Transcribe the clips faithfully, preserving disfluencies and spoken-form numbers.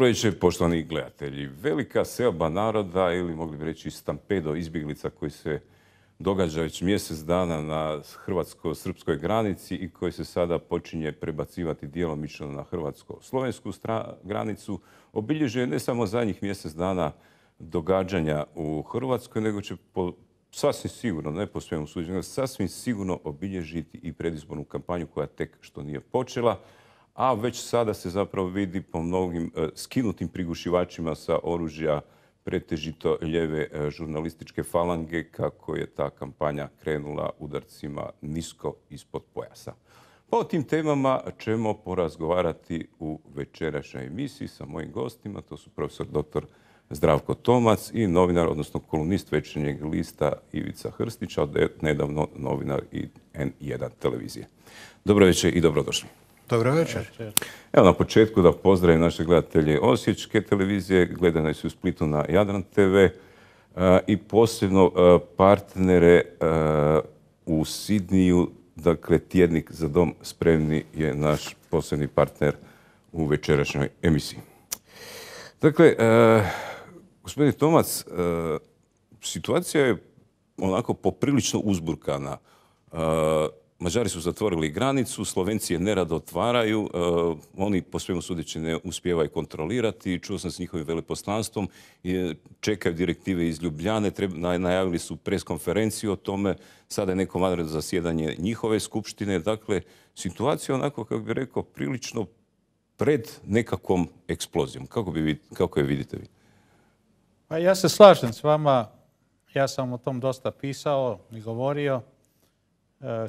Dobro večer, poštovani gledatelji. Velika selba naroda, ili mogli bi reći stampedo izbjeglica koji se događa već mjesec dana na hrvatsko-srpskoj granici i koji se sada počinje prebacivati djelomično na hrvatsko-slovensku granicu, obilježuje ne samo zadnjih mjesec dana događanja u Hrvatskoj, nego će po, sasvim sigurno, ne po svemu suđenju, sasvim sigurno obilježiti i predizbornu kampanju koja tek što nije počela, a već sada se zapravo vidi po mnogim e, skinutim prigušivačima sa oružja pretežito ljeve e, žurnalističke falange kako je ta kampanja krenula udarcima nisko ispod pojasa. Pa o tim temama ćemo porazgovarati u večerašnjoj emisiji sa mojim gostima. To su profesor doktor Zdravko Tomac i novinar, odnosno kolumnist Večernjeg lista Ivica Hrstić, a nedavno novinar i en jedan televizije. Dobro večer i dobrodošli. Dobro večer. Evo na početku da pozdravim naše gledatelje Osječke televizije, gledane su u Splitu na Jadran te ve i posebno partnere u Sidniju, dakle tjednik Za dom spremni je naš posebni partner u večerašnjoj emisiji. Dakle, gospodin Tomac, situacija je onako poprilično uzburkana. Mađari su zatvorili granicu, Slovenci je nerado otvaraju, uh, oni po svemu sudeći ne uspijevaju kontrolirati. Čuo sam s njihovim veleposlanstvom, čekaju direktive iz Ljubljane, treba, najavili su preskonferenciju o tome, sada je neko vanredno zasjedanje njihove skupštine. Dakle, situacija onako, kako bih rekao, prilično pred nekakvom eksplozijom. Kako, bi, kako je vidite vi? Pa ja se slažem s vama, ja sam o tom dosta pisao i govorio.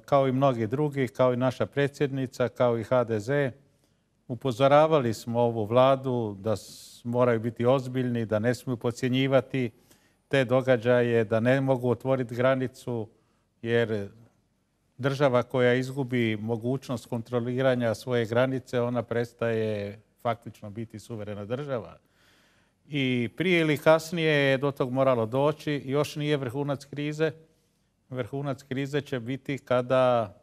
Kao i mnogi drugi, kao i naša predsjednica, kao i ha de ze. Upozoravali smo ovu vladu da moraju biti ozbiljni, da ne smiju podcjenjivati te događaje, da ne mogu otvoriti granicu, jer država koja izgubi mogućnost kontroliranja svoje granice, ona prestaje faktično biti suverena država. I prije ili kasnije je do tog moralo doći, još nije vrhunac krize. Vrhunac krize će biti kada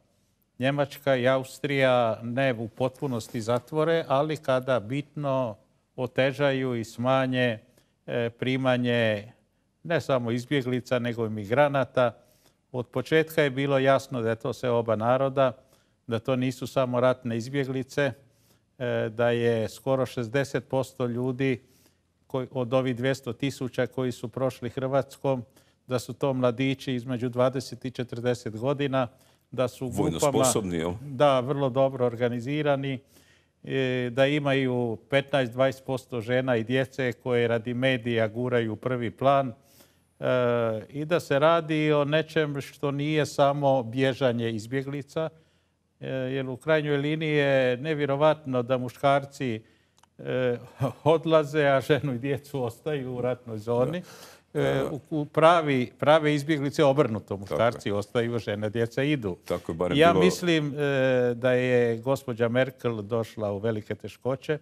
Njemačka i Austrija ne u potpunosti zatvore, ali kada bitno otežaju i smanje primanje ne samo izbjeglica, nego i migranata. Od početka je bilo jasno da je to sve oba naroda, da to nisu samo ratne izbjeglice, da je skoro šezdeset posto ljudi od ovih dvjesto tisuća koji su prošli Hrvatskom, da su to mladići između dvadeset i četrdeset godina, da su grupama da, vrlo dobro organizirani, da imaju petnaest do dvadeset posto žena i djece koje radi medija guraju u prvi plan i da se radi o nečem što nije samo bježanje izbjeglica, jer u krajnjoj liniji je nevjerovatno da muškarci odlaze, a ženu i djecu ostaju u ratnoj zoni. U pravi, prave izbjeglice obrnuto. Muškarci ostaju, žene, djeca idu. Tako je ja bilo... mislim da je gospođa Merkel došla u velike teškoće,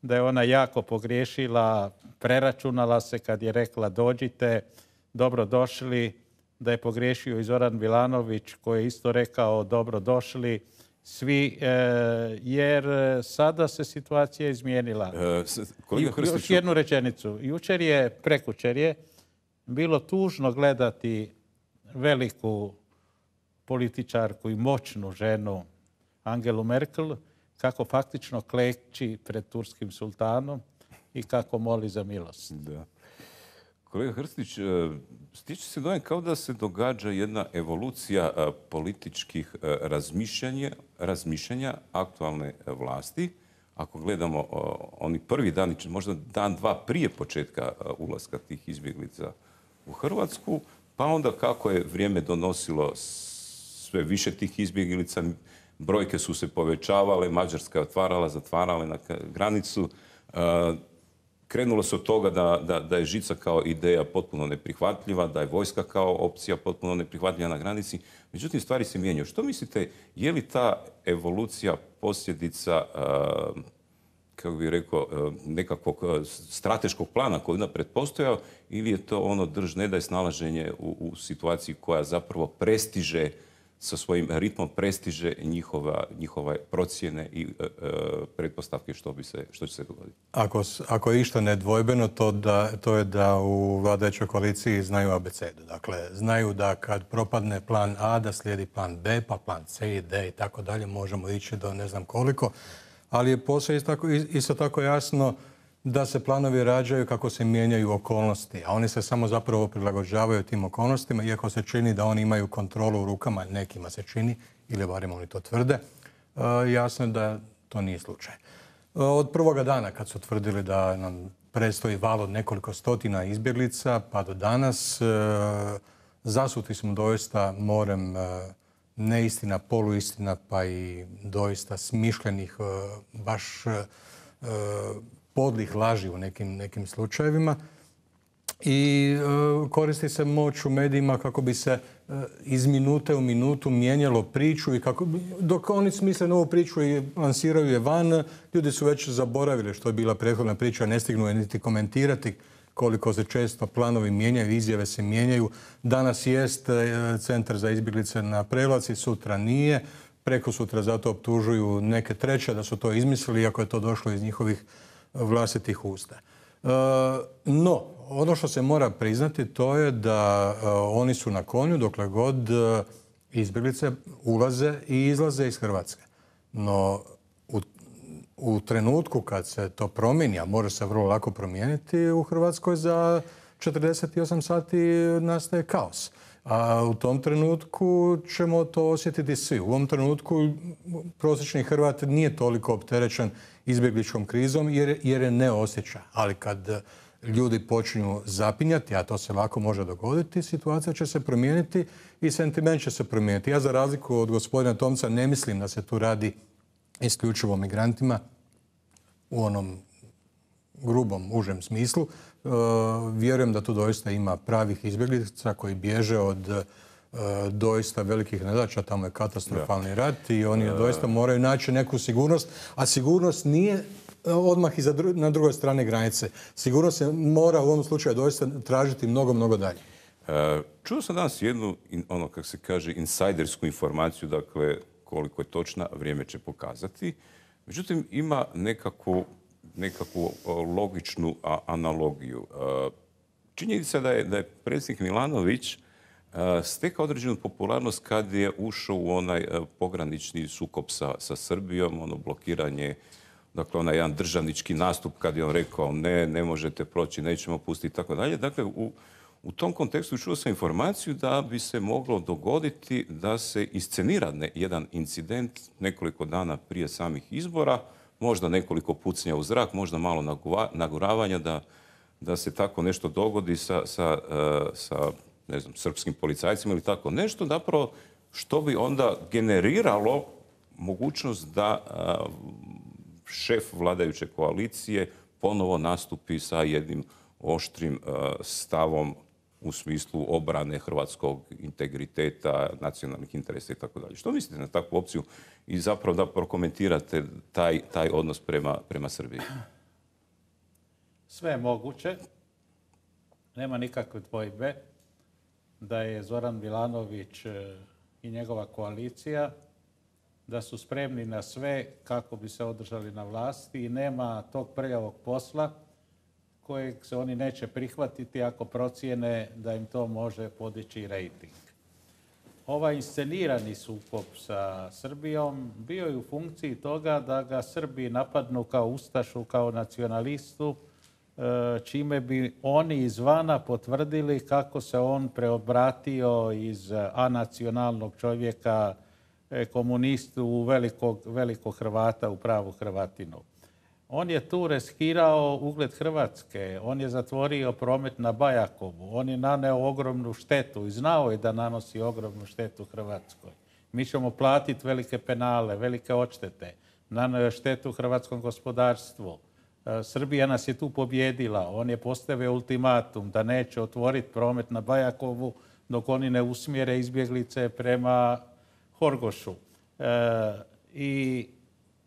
da je ona jako pogriješila, preračunala se kad je rekla dođite, dobro došli, da je pogriješio i Zoran Milanović koji je isto rekao dobro došli svi, jer sada se situacija izmijenila. E, kolega Hrstiću... Još jednu rečenicu. Jučer je, prekučer je, bilo tužno gledati veliku političarku i moćnu ženu Angelu Merkel kako faktično kleči pred turskim sultanom i kako moli za milost. Da. Kolega Hrstić, stiče se dojam kao da se događa jedna evolucija političkih razmišljanja, razmišljanja aktualne vlasti. Ako gledamo oni prvi dan, možda dan, dva prije početka ulaska tih izbjeglica u Hrvatsku, pa onda kako je vrijeme donosilo sve više tih izbjeglica, brojke su se povećavale, Mađarska je otvarala, zatvarala na granicu. Krenulo se od toga da, da, da je žica kao ideja potpuno neprihvatljiva, da je vojska kao opcija potpuno neprihvatljiva na granici. Međutim, stvari se mijenjaju. Što mislite, je li ta evolucija posljedica, uh, kako bih rekao, uh, nekakvog uh, strateškog plana koji je napred postojao, ili je to ono drž ne daj snalaženje u, u situaciji koja zapravo prestiže sa svojim ritmom prestiže njihova, njihove procjene i e, e, pretpostavke što, bi se, što će se dogoditi. Ako, ako je išta nedvojbeno, to, da, to je da u vladajućoj koaliciji znaju abecedu. Dakle, znaju da kad propadne plan A, da slijedi plan B, pa plan C i D i tako dalje. Možemo ići do ne znam koliko. Ali je posve isto tako, isto tako jasno da se planovi rađaju kako se mijenjaju okolnosti, a oni se samo zapravo prilagođavaju tim okolnostima, iako se čini da oni imaju kontrolu u rukama, nekima se čini, ili barem oni to tvrde, jasno je da to nije slučaj. Od prvoga dana kad su tvrdili da nam predstoji val od nekoliko stotina izbjeglica, pa do danas zasuti smo doista morem neistina, poluistina, pa i doista smišljenih, baš podlih laži u nekim, nekim slučajevima. I e, koristi se moć u medijima kako bi se e, iz minute u minutu mijenjalo priču i kako bi, dok oni smisle novu priču i lansiraju je van, ljudi su već zaboravili što je bila prethodna priča, ne stignu je niti komentirati koliko se često planovi mijenjaju, izjave se mijenjaju. Danas jest e, centar za izbjeglice na Prevlaci, sutra nije. Preko sutra zato optužuju neke treće da su to izmislili, iako je to došlo iz njihovih vlastitih usta. E, no, ono što se mora priznati to je da e, oni su na konju dokle god e, izbjeglice ulaze i izlaze iz Hrvatske. No, u, u trenutku kad se to promijeni, a može se vrlo lako promijeniti, u Hrvatskoj za četrdeset osam sati nastaje kaos. A u tom trenutku ćemo to osjetiti svi. U ovom trenutku prosječni Hrvat nije toliko opterećen izbjegličkom krizom jer, jer je ne osjeća. Ali kad ljudi počinju zapinjati, a to se lako može dogoditi, situacija će se promijeniti i sentiment će se promijeniti. Ja za razliku od gospodina Tomca ne mislim da se tu radi isključivo o migrantima u onom grubom, užem smislu. E, vjerujem da tu doista ima pravih izbjeglica koji bježe od e, doista velikih nedaća. Tamo je katastrofalni ja. rat i oni doista moraju naći neku sigurnost. A sigurnost nije odmah i za dru- na drugoj strani granice. Sigurnost se mora u ovom slučaju doista tražiti mnogo, mnogo dalje. E, čuo sam danas jednu, ono kako se kaže, insajdersku informaciju, dakle koliko je točna, vrijeme će pokazati. Međutim, ima nekakvu nekakvu logičnu analogiju. Činjenica da je, da je predsjednik Milanović stekao određenu popularnost kad je ušao u onaj pogranični sukob sa, sa Srbijom, ono blokiranje, dakle onaj jedan državnički nastup kad je on rekao ne, ne možete proći, nećemo pustiti i tako dalje. Dakle, u, u tom kontekstu čuo sam informaciju da bi se moglo dogoditi da se iscenira ne, jedan incident nekoliko dana prije samih izbora, možda nekoliko pucnja u zrak, možda malo naguravanja da, da se tako nešto dogodi sa, sa, sa ne znam, srpskim policajcima ili tako nešto, zapravo što bi onda generiralo mogućnost da šef vladajuće koalicije ponovo nastupi sa jednim oštrim stavom u smislu obrane hrvatskog integriteta, nacionalnih interesa i tako dalje. Što mislite na takvu opciju i zapravo da prokomentirate taj, taj odnos prema, prema Srbiji? Sve je moguće. Nema nikakve dvojbe da je Zoran Milanović i njegova koalicija da su spremni na sve kako bi se održali na vlasti i nema tog prljavog posla kojeg se oni neće prihvatiti ako procijene da im to može podići rejting. Ovaj inscenirani sukob sa Srbijom bio je u funkciji toga da ga Srbi napadnu kao ustašu, kao nacionalistu, čime bi oni izvana potvrdili kako se on preobratio iz anacionalnog čovjeka, komunistu u velikog, velikog Hrvata, u pravu Hrvatinu. On je tu riskirao ugled Hrvatske, on je zatvorio promet na Bajakovu, on je naneo ogromnu štetu i znao je da nanosi ogromnu štetu Hrvatskoj. Mi ćemo platiti velike penale, velike odštete, naneo je štetu hrvatskom gospodarstvu. Srbija nas je tu pobjedila, on je postavio ultimatum da neće otvoriti promet na Bajakovu dok oni ne usmjere izbjeglice prema Horgošu. E, i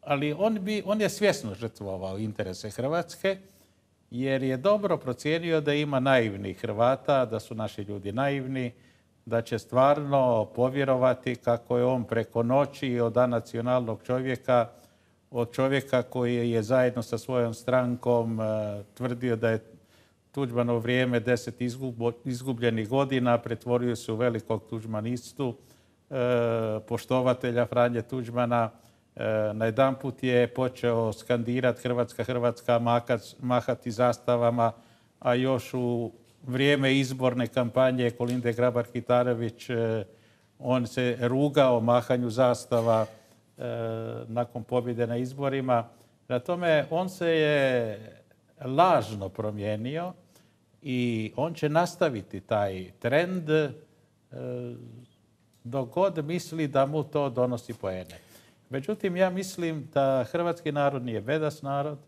Ali on, bi, on je svjesno žrtvovao interese Hrvatske jer je dobro procijenio da ima naivnih Hrvata, da su naši ljudi naivni, da će stvarno povjerovati kako je on preko noći od anacionalnog čovjeka, od čovjeka koji je zajedno sa svojom strankom tvrdio da je Tuđmanovo vrijeme deset izgubljenih godina, pretvorio se u velikog tuđmanistu, poštovatelja Franje Tuđmana. Najedanput je počeo skandirati Hrvatska, Hrvatska, mahati zastavama, a još u vrijeme izborne kampanje Kolinde Grabar-Kitarović on se rugao mahanju zastava nakon pobjede na izborima. Na tome on se je lažno promijenio i on će nastaviti taj trend dok god misli da mu to donosi poene. Međutim, ja mislim da hrvatski narod nije bedas narod,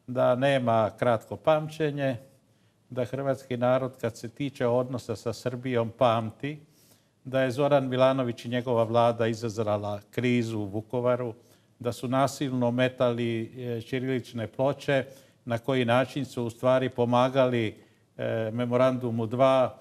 da nema kratko pamćenje, da hrvatski narod kad se tiče odnosa sa Srbijom pamti, da je Zoran Milanović i njegova vlada izazvala krizu u Vukovaru, da su nasilno metali ćirilične ploče, na koji način su u stvari pomagali Memorandumu dva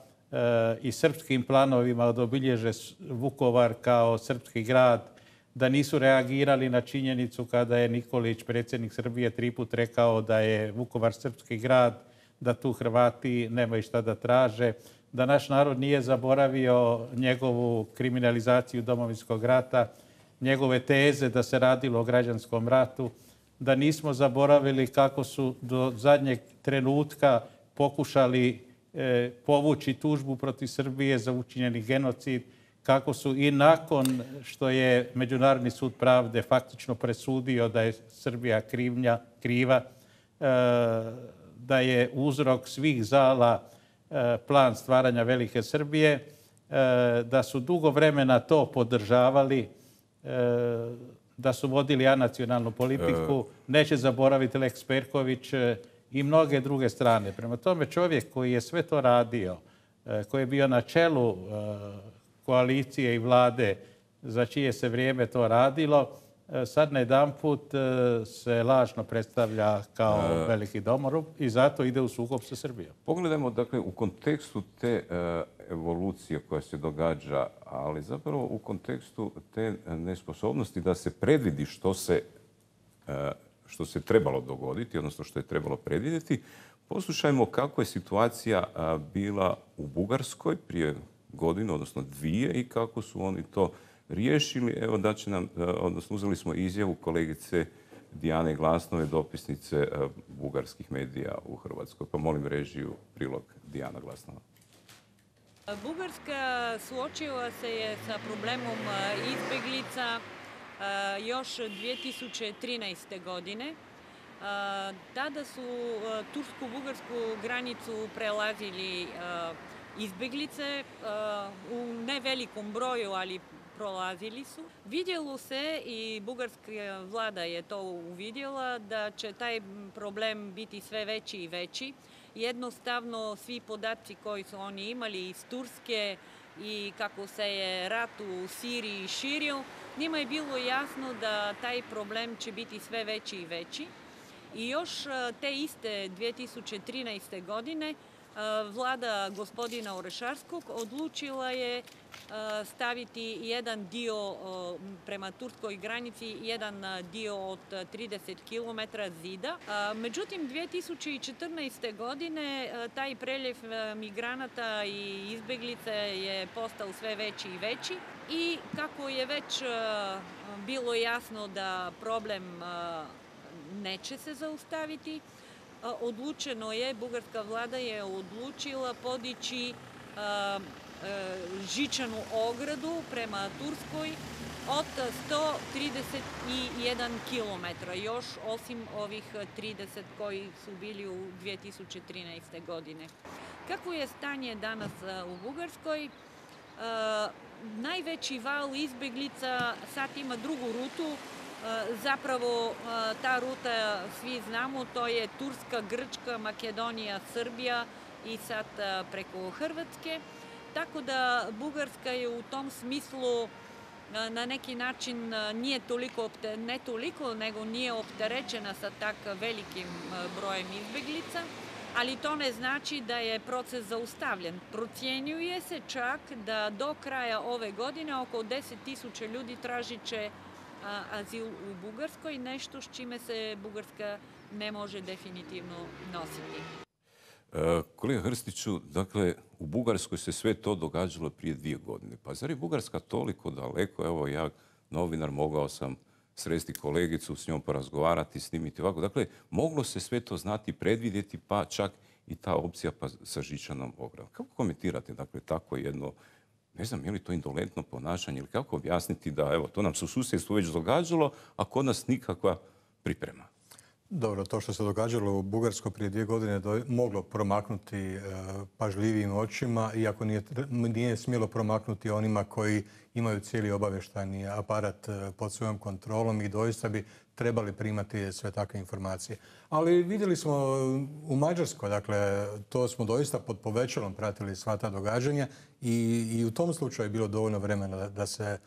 i srpskim planovima da obilježe Vukovar kao srpski grad, da nisu reagirali na činjenicu kada je Nikolić, predsjednik Srbije, tri put rekao da je Vukovar srpski grad, da tu Hrvati nemaju šta da traže, da naš narod nije zaboravio njegovu kriminalizaciju Domovinskog rata, njegove teze da se radilo o građanskom ratu, da nismo zaboravili kako su do zadnjeg trenutka pokušali e, povući tužbu protiv Srbije za učinjeni genocid, kako su i nakon što je Međunarodni sud pravde faktično presudio da je Srbija krivnja, kriva, e, da je uzrok svih zala e, plan stvaranja Velike Srbije, e, da su dugo vremena to podržavali, e, da su vodili anacionalnu politiku, neće zaboraviti Lex Perković i mnoge druge strane. Prema tome, čovjek koji je sve to radio, koji je bio na čelu koalicije i vlade za čije se vrijeme to radilo, sad najedanput se lažno predstavlja kao veliki domorub i zato ide u sukob sa Srbijom. Pogledajmo, dakle, u kontekstu te evolucije koja se događa, ali zapravo u kontekstu te nesposobnosti da se predvidi što se, što se trebalo dogoditi, odnosno što je trebalo predvidjeti, poslušajmo kako je situacija bila u Bugarskoj prije godinu, odnosno dvije, i kako su oni to riješili. Evo da će nam, odnosno uzeli smo izjavu kolegice Dijane Glasnove, dopisnice bugarskih medija u Hrvatskoj. Pa molim režiju prilog Dijana Glasnova. Bugarska suočila se je sa problemom izbjeglica još dvije tisuće trinaeste. godine. Tada su tursko-bugarsku granicu prelazili izbjeglice u nevelikom broju, ali prolazili su. Vidjelo se i bugarska vlada je to uvidjela da će taj problem biti sve veći i veći. Jednostavno svi podaci koji su oni imali iz Turske i kako se je rat u Siriji širio, njima je bilo jasno da taj problem će biti sve veći i veći. I još te iste dvije tisuće trinaeste. godine vlada gospodina Orešarskog odlučila je staviti jedan dio prema turskoj granici, jedan dio od trideset kilometara zida. Međutim, dvije tisuće četrnaeste. godine taj preljev migranata i izbjeglice je postao sve veći i veći i kako je već bilo jasno da problem neće se zaustaviti, odlučeno je, bugarska vlada je odlučila podići žičanu ogradu prema Turskoj od sto trideset jedan kilometra, još osim ovih trideset koji su bili u dvije tisuće trinaeste. godine. Kako je stanje danas u Bugarskoj? Najveći val izbjeglica sad ima drugu rutu. Zapravo ta ruta, svi znamo, to je Turska, Grčka, Makedonija, Srbija i sad preko Hrvatske. Tako da Bugarska je u tom smislu na neki način nije toliko, ne toliko, nego nije opterećena sa tak velikim brojem izbjeglica. ali to ne znači da je proces zaustavljen. Procjenjuje se čak da do kraja ove godine oko deset tisuća ljudi tražit će azil u Bugarskoj, nešto s čime se Bugarska ne može definitivno nositi. Kolega Hrstiću, dakle, u Bugarskoj se sve to događalo prije dvije godine. Pa zar je Bugarska toliko daleko? Evo, ja, novinar, mogao sam sresti kolegicu, s njom porazgovarati, snimiti ovako. Dakle, moglo se sve to znati, predvidjeti, pa čak i ta opcija pa sa žičanom ogradom. Kako komentirate, dakle, tako jedno, ne znam, je li to indolentno ponašanje ili kako objasniti da, evo, to nam se u susjedstvu već događalo, a kod nas nikakva priprema? Dobro, to što se događalo u Bugarskoj prije dvije godine je moglo promaknuti e, pažljivijim očima, iako nije, nije smjelo promaknuti onima koji imaju cijeli obavještajni aparat e, pod svojom kontrolom i doista bi trebali primati sve takve informacije. Ali vidjeli smo u Mađarskoj, dakle, to smo doista pod povećalom pratili sva ta događanja i, i u tom slučaju je bilo dovoljno vremena da, da se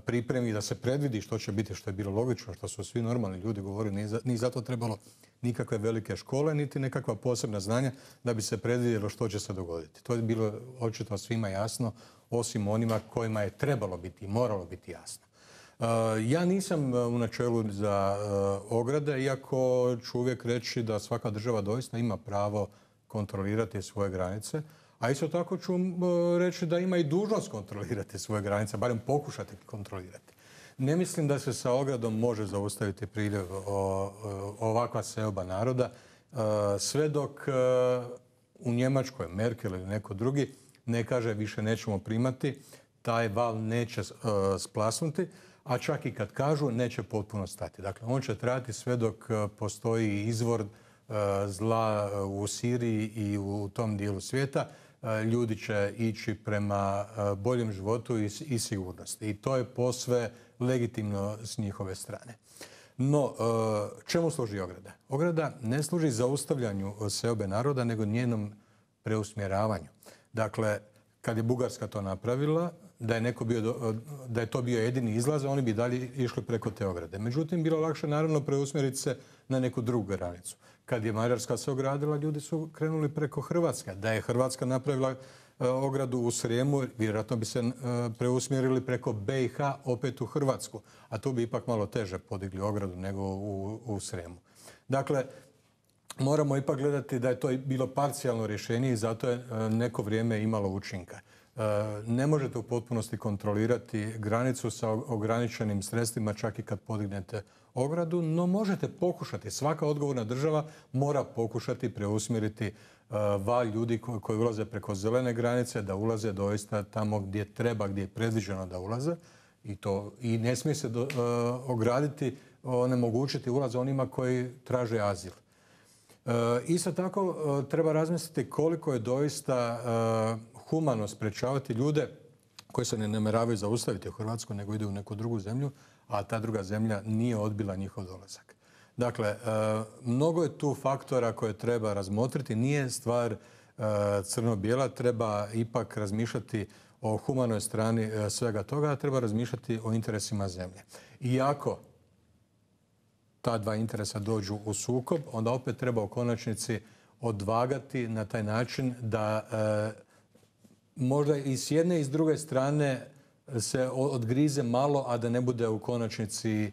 pripremi, da se predvidi što će biti, što je bilo logično, što su svi normalni ljudi govorili. Nije, za, nije zato trebalo nikakve velike škole, niti nekakva posebna znanja da bi se predvidjelo što će se dogoditi. To je bilo očito svima jasno, osim onima kojima je trebalo biti i moralo biti jasno. Uh, ja nisam u načelu za uh, ograde, iako ću uvijek reći da svaka država doista ima pravo kontrolirati svoje granice. A isto tako ću reći da ima i dužnost kontrolirati svoje granice, barem pokušati kontrolirati. Ne mislim da se sa ogradom može zaustaviti priljev ovakva seoba naroda, sve dok u Njemačkoj Merkel ili neko drugi ne kaže više nećemo primati, taj val neće splasnuti, a čak i kad kažu neće potpuno stati. Dakle, on će trajati sve dok postoji izvor zla u Siriji i u tom dijelu svijeta. Ljudi će ići prema boljem životu i sigurnosti. I to je posve legitimno s njihove strane. No, čemu služi ograda? Ograda ne služi zaustavljanju seobe naroda, nego njenom preusmjeravanju. Dakle, kad je Bugarska to napravila, da je, neko bio, da je to bio jedini izlaz, oni bi dalje išli preko te ograde. Međutim, bilo lakše naravno preusmjeriti se na neku drugu granicu. Kad je Mađarska se ogradila, ljudi su krenuli preko Hrvatske. Da je Hrvatska napravila ogradu u Srijemu, vjerojatno bi se preusmjerili preko be i ha opet u Hrvatsku. A tu bi ipak malo teže podigli ogradu nego u, u Srijemu. Dakle, moramo ipak gledati da je to bilo parcijalno rješenje i zato je neko vrijeme imalo učinka. Ne možete u potpunosti kontrolirati granicu sa ograničenim sredstvima čak i kad podignete ogradu, no možete pokušati. Svaka odgovorna država mora pokušati preusmjeriti val ljudi koji ulaze preko zelene granice, da ulaze doista tamo gdje treba, gdje je predviđeno da ulaze. I, to, i ne smije se do, uh, ograditi, onemogućiti ulaz onima koji traže azil. Uh, isto tako uh, treba razmisliti koliko je doista uh, humano sprečavati ljude koji se ne namjeravaju zaustaviti u Hrvatskoj, nego idu u neku drugu zemlju, a ta druga zemlja nije odbila njihov dolazak. Dakle, uh, mnogo je tu faktora koje treba razmotriti. Nije stvar uh, crno-bijela, treba ipak razmišljati o humanoj strani svega toga, treba razmišljati o interesima zemlje. Iako ta dva interesa dođu u sukob, onda opet treba u konačnici odvagati na taj način da e, možda i s jedne i s druge strane se odgrize malo, a da ne bude u konačnici e,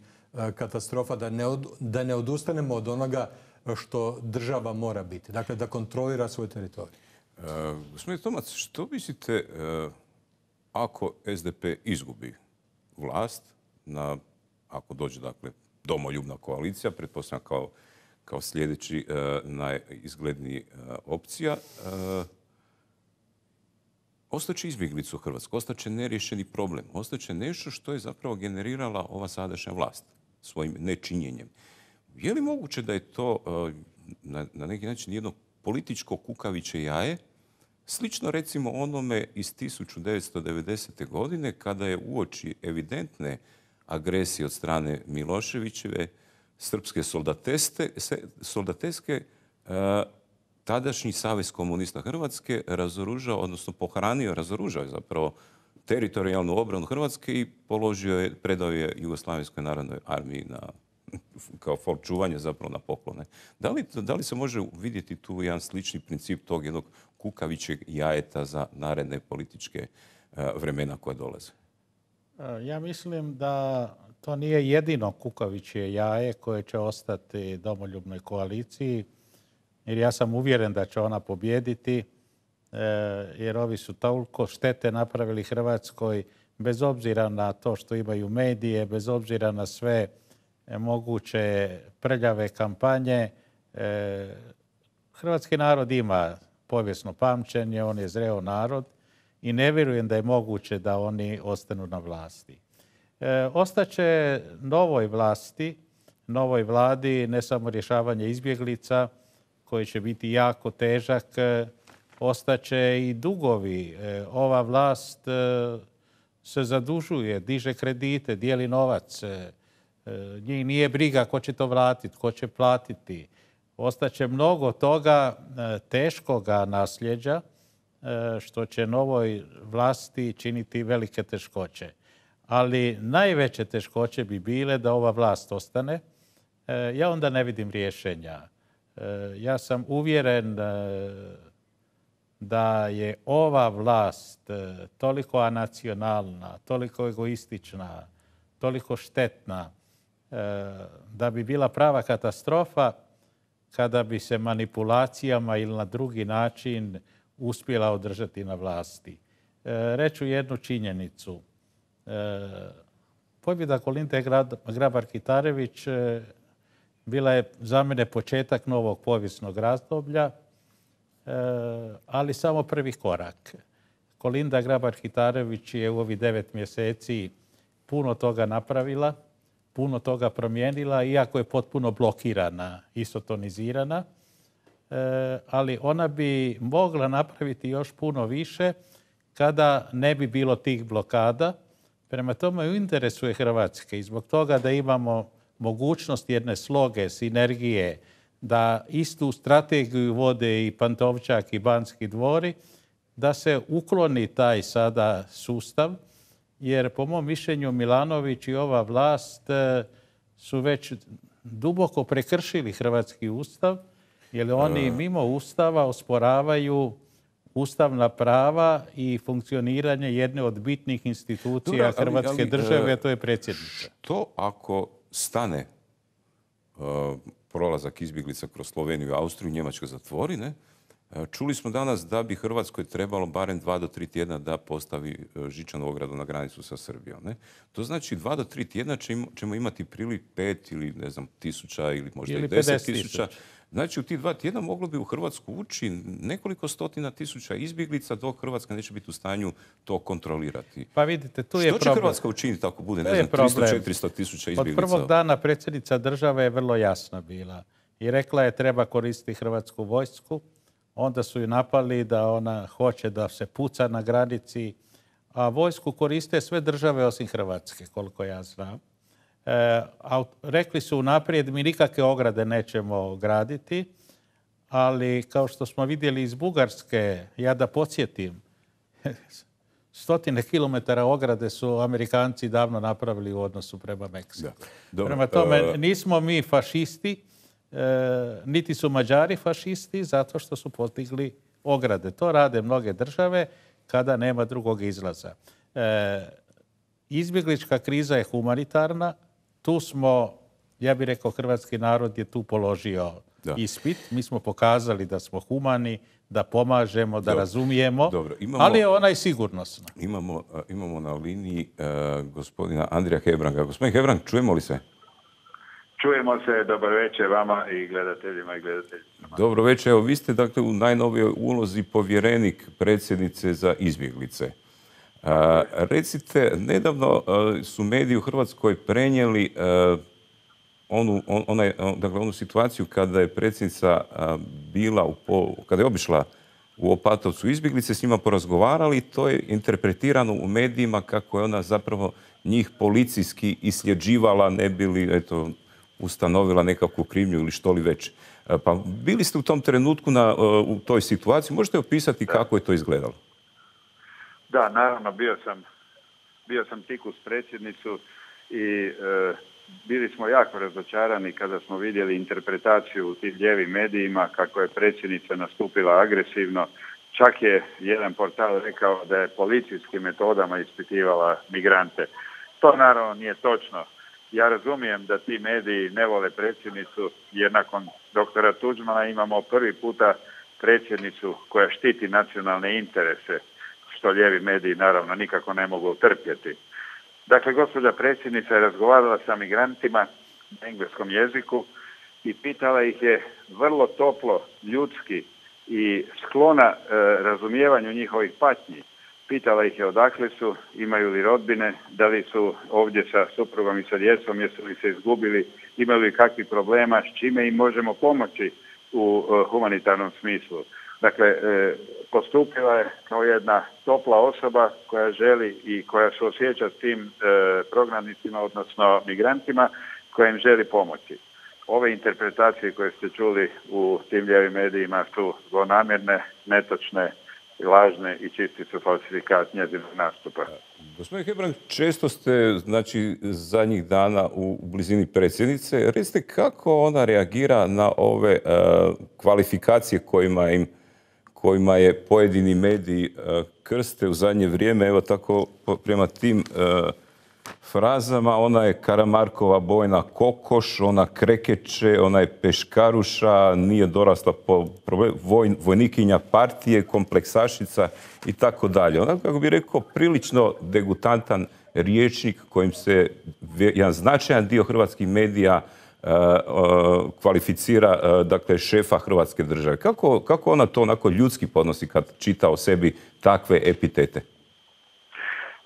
katastrofa, da ne, od, da ne odustanemo od onoga što država mora biti. Dakle, da kontrolira svoj teritorij. Uh, Gospodine Tomac, što mislite uh... ako es de pe izgubi vlast, na, ako dođe dakle, domoljubna koalicija, pretpostavljam kao, kao sljedeći uh, najizgledniji uh, opcija, uh, ostaće izbjeglica u Hrvatskoj, ostaće neriješeni problem, ostaće nešto što je zapravo generirala ova sadašnja vlast svojim nečinjenjem. Je li moguće da je to uh, na, na neki način jedno političko kukavičje jaje, slično recimo onome iz tisuću devetsto devedesete. godine kada je uoči evidentne agresije od strane Miloševićeve srpske soldateske tadašnji Savez komunista Hrvatske razoružao, odnosno pohranio, razoružao je zapravo teritorijalnu obranu Hrvatske i položio je, predao je Jugoslavenskoj narodnoj armiji na, kao for čuvanje zapravo na poklone. Da li, da li se može vidjeti tu jedan slični princip tog jednog kukavičjeg jajeta za naredne političke vremena koja dolaze? Ja mislim da to nije jedino kukavičje jaje koje će ostati domoljubnoj koaliciji, jer ja sam uvjeren da će ona pobijediti, jer ovi su toliko štete napravili Hrvatskoj, bez obzira na to što imaju medije, bez obzira na sve moguće prljave kampanje. Hrvatski narod ima povijesno pamćenje, on je zreo narod i ne vjerujem da je moguće da oni ostanu na vlasti. E, ostaće novoj vlasti, novoj vladi, ne samo rješavanje izbjeglica, koji će biti jako težak, ostaće i dugovi. E, ova vlast e, se zadužuje, diže kredite, dijeli novac. E, njih nije briga ko će to vratiti, ko će platiti. Ostaće mnogo toga e, teškoga nasljeđa, e, što će novoj vlasti činiti velike teškoće. Ali najveće teškoće bi bile da ova vlast ostane. E, ja onda ne vidim rješenja. E, ja sam uvjeren e, da je ova vlast e, toliko anacionalna, toliko egoistična, toliko štetna, e, da bi bila prava katastrofa kada bi se manipulacijama ili na drugi način uspjela održati na vlasti. E, reću jednu činjenicu. E, pobjeda Kolinde Grabar-Kitarović e, bila je za mene početak novog povijesnog razdoblja, e, ali samo prvi korak. Kolinda Grabar-Kitarović je u ovih devet mjeseci puno toga napravila, puno toga promijenila, iako je potpuno blokirana, isotonizirana, e, ali ona bi mogla napraviti još puno više kada ne bi bilo tih blokada. Prema tome u interesu je Hrvatske i zbog toga da imamo mogućnost jedne sloge, sinergije, da istu strategiju vode i Pantovčak i Banski dvori, da se ukloni taj sada sustav, jer po mom mišljenju Milanović i ova vlast su već duboko prekršili hrvatski ustav, jer oni mimo ustava osporavaju ustavna prava i funkcioniranje jedne od bitnih institucija Dobre, ali, Hrvatske ali, države, a to je predsjednica. Što ako stane uh, prolazak izbjeglica kroz Sloveniju i Austriju, Njemačka zatvori, ne? Čuli smo danas da bi Hrvatskoj trebalo barem dva do tri tjedna da postavi žičanu ogradu na granicu sa Srbijom. Ne? To znači dva do tri tjedna ćemo imati priliv pet ili ne znam tisuća ili možda ili i deset tisuća. Znači u tih dva tjedna moglo bi u Hrvatsku ući nekoliko stotina tisuća izbjeglica dok Hrvatska neće biti u stanju to kontrolirati. Pa vidite, tu je Što će problem. Hrvatska učiniti ako bude, ne znam, tristo do četiristo tisuća izbjeglica? Od prvog dana predsjednica države je vrlo jasna bila i rekla je treba koristiti hrvatsku vojsku. Onda su ju napali da ona hoće da se puca na granici, a vojsku koriste sve države osim Hrvatske, koliko ja znam. E, a rekli su unaprijed mi nikakve ograde nećemo graditi, ali kao što smo vidjeli iz Bugarske, ja da podsjetim, stotine kilometara ograde su Amerikanci davno napravili u odnosu prema Meksiku. Prema tome, nismo mi fašisti, E, niti su Mađari fašisti zato što su postigli ograde. To rade mnoge države kada nema drugog izlaza. E, izbjeglička kriza je humanitarna. Tu smo, ja bih rekao, hrvatski narod je tu položio da. ispit. Mi smo pokazali da smo humani, da pomažemo, da Dobro. razumijemo, Dobro. Imamo, ali je ona i sigurnosna. Imamo, imamo na liniji uh, gospodina Andrija Hebranga. Gospodin Hebrang, čujemo li se? Čujemo se, dobar večer vama i gledateljima i gledateljicama. Dobro večer, evo vi ste dakle u najnovijoj ulozi povjerenik predsjednice za izbjeglice. A, recite, nedavno a, su mediji u Hrvatskoj prenijeli a, onu, on, onaj, dakle, onu situaciju kada je predsjednica a, bila, u po, kada je obišla u Opatovcu izbjeglice, s njima porazgovarali, to je interpretirano u medijima kako je ona zapravo njih policijski isljeđivala, ne bili, eto, ustanovila nekakvu krivnju ili što li već. Pa bili ste u tom trenutku na, u toj situaciji. Možete opisati da. kako je to izgledalo? Da, naravno, bio sam, bio sam tik uz predsjednicu i e, bili smo jako razočarani kada smo vidjeli interpretaciju u tim lijevim medijima kako je predsjednica nastupila agresivno. Čak je jedan portal rekao da je policijskim metodama ispitivala migrante. To naravno nije točno. Ja razumijem da ti mediji ne vole predsjednicu jer nakon doktora Tuđmana imamo prvi puta predsjednicu koja štiti nacionalne interese, što lijevi mediji naravno nikako ne mogu utrpjeti. Dakle, gospođa predsjednica je razgovarala sa migrantima na engleskom jeziku i pitala ih je vrlo toplo, ljudski i sklona e, razumijevanju njihovih patnji. Pitala ih je odakle su, imaju li rodbine, da li su ovdje sa suprugom i sa djecom, jesu li se izgubili, imaju li kakvih problema, s čime im možemo pomoći u e, humanitarnom smislu. Dakle, e, postupila je kao jedna topla osoba koja želi i koja se osjeća s tim e, prognanicima, odnosno migrantima, koja im želi pomoći. Ove interpretacije koje ste čuli u tim lijevim medijima su zlonamjerne, netočne, lažne i čisti su falsifikat njezinog nastupa. Gospodin Hebrang, često ste, znači, zadnjih dana u blizini predsjednice. Recite kako ona reagira na ove uh, kvalifikacije kojima im kojima je pojedini mediji uh, krste u zadnje vrijeme. Evo tako prema tim uh, frazama, ona je Karamarkova bojna kokoš, ona krekeće, ona je peškaruša, nije dorasla po problem, voj, vojnikinja partije, kompleksašica i tako dalje. Ona, kako bi rekao, prilično degutantan rječnik kojim se jedan značajan dio hrvatskih medija uh, uh, kvalificira uh, dakle, šefa Hrvatske države. Kako, kako ona to onako ljudski podnosi kad čita o sebi takve epitete?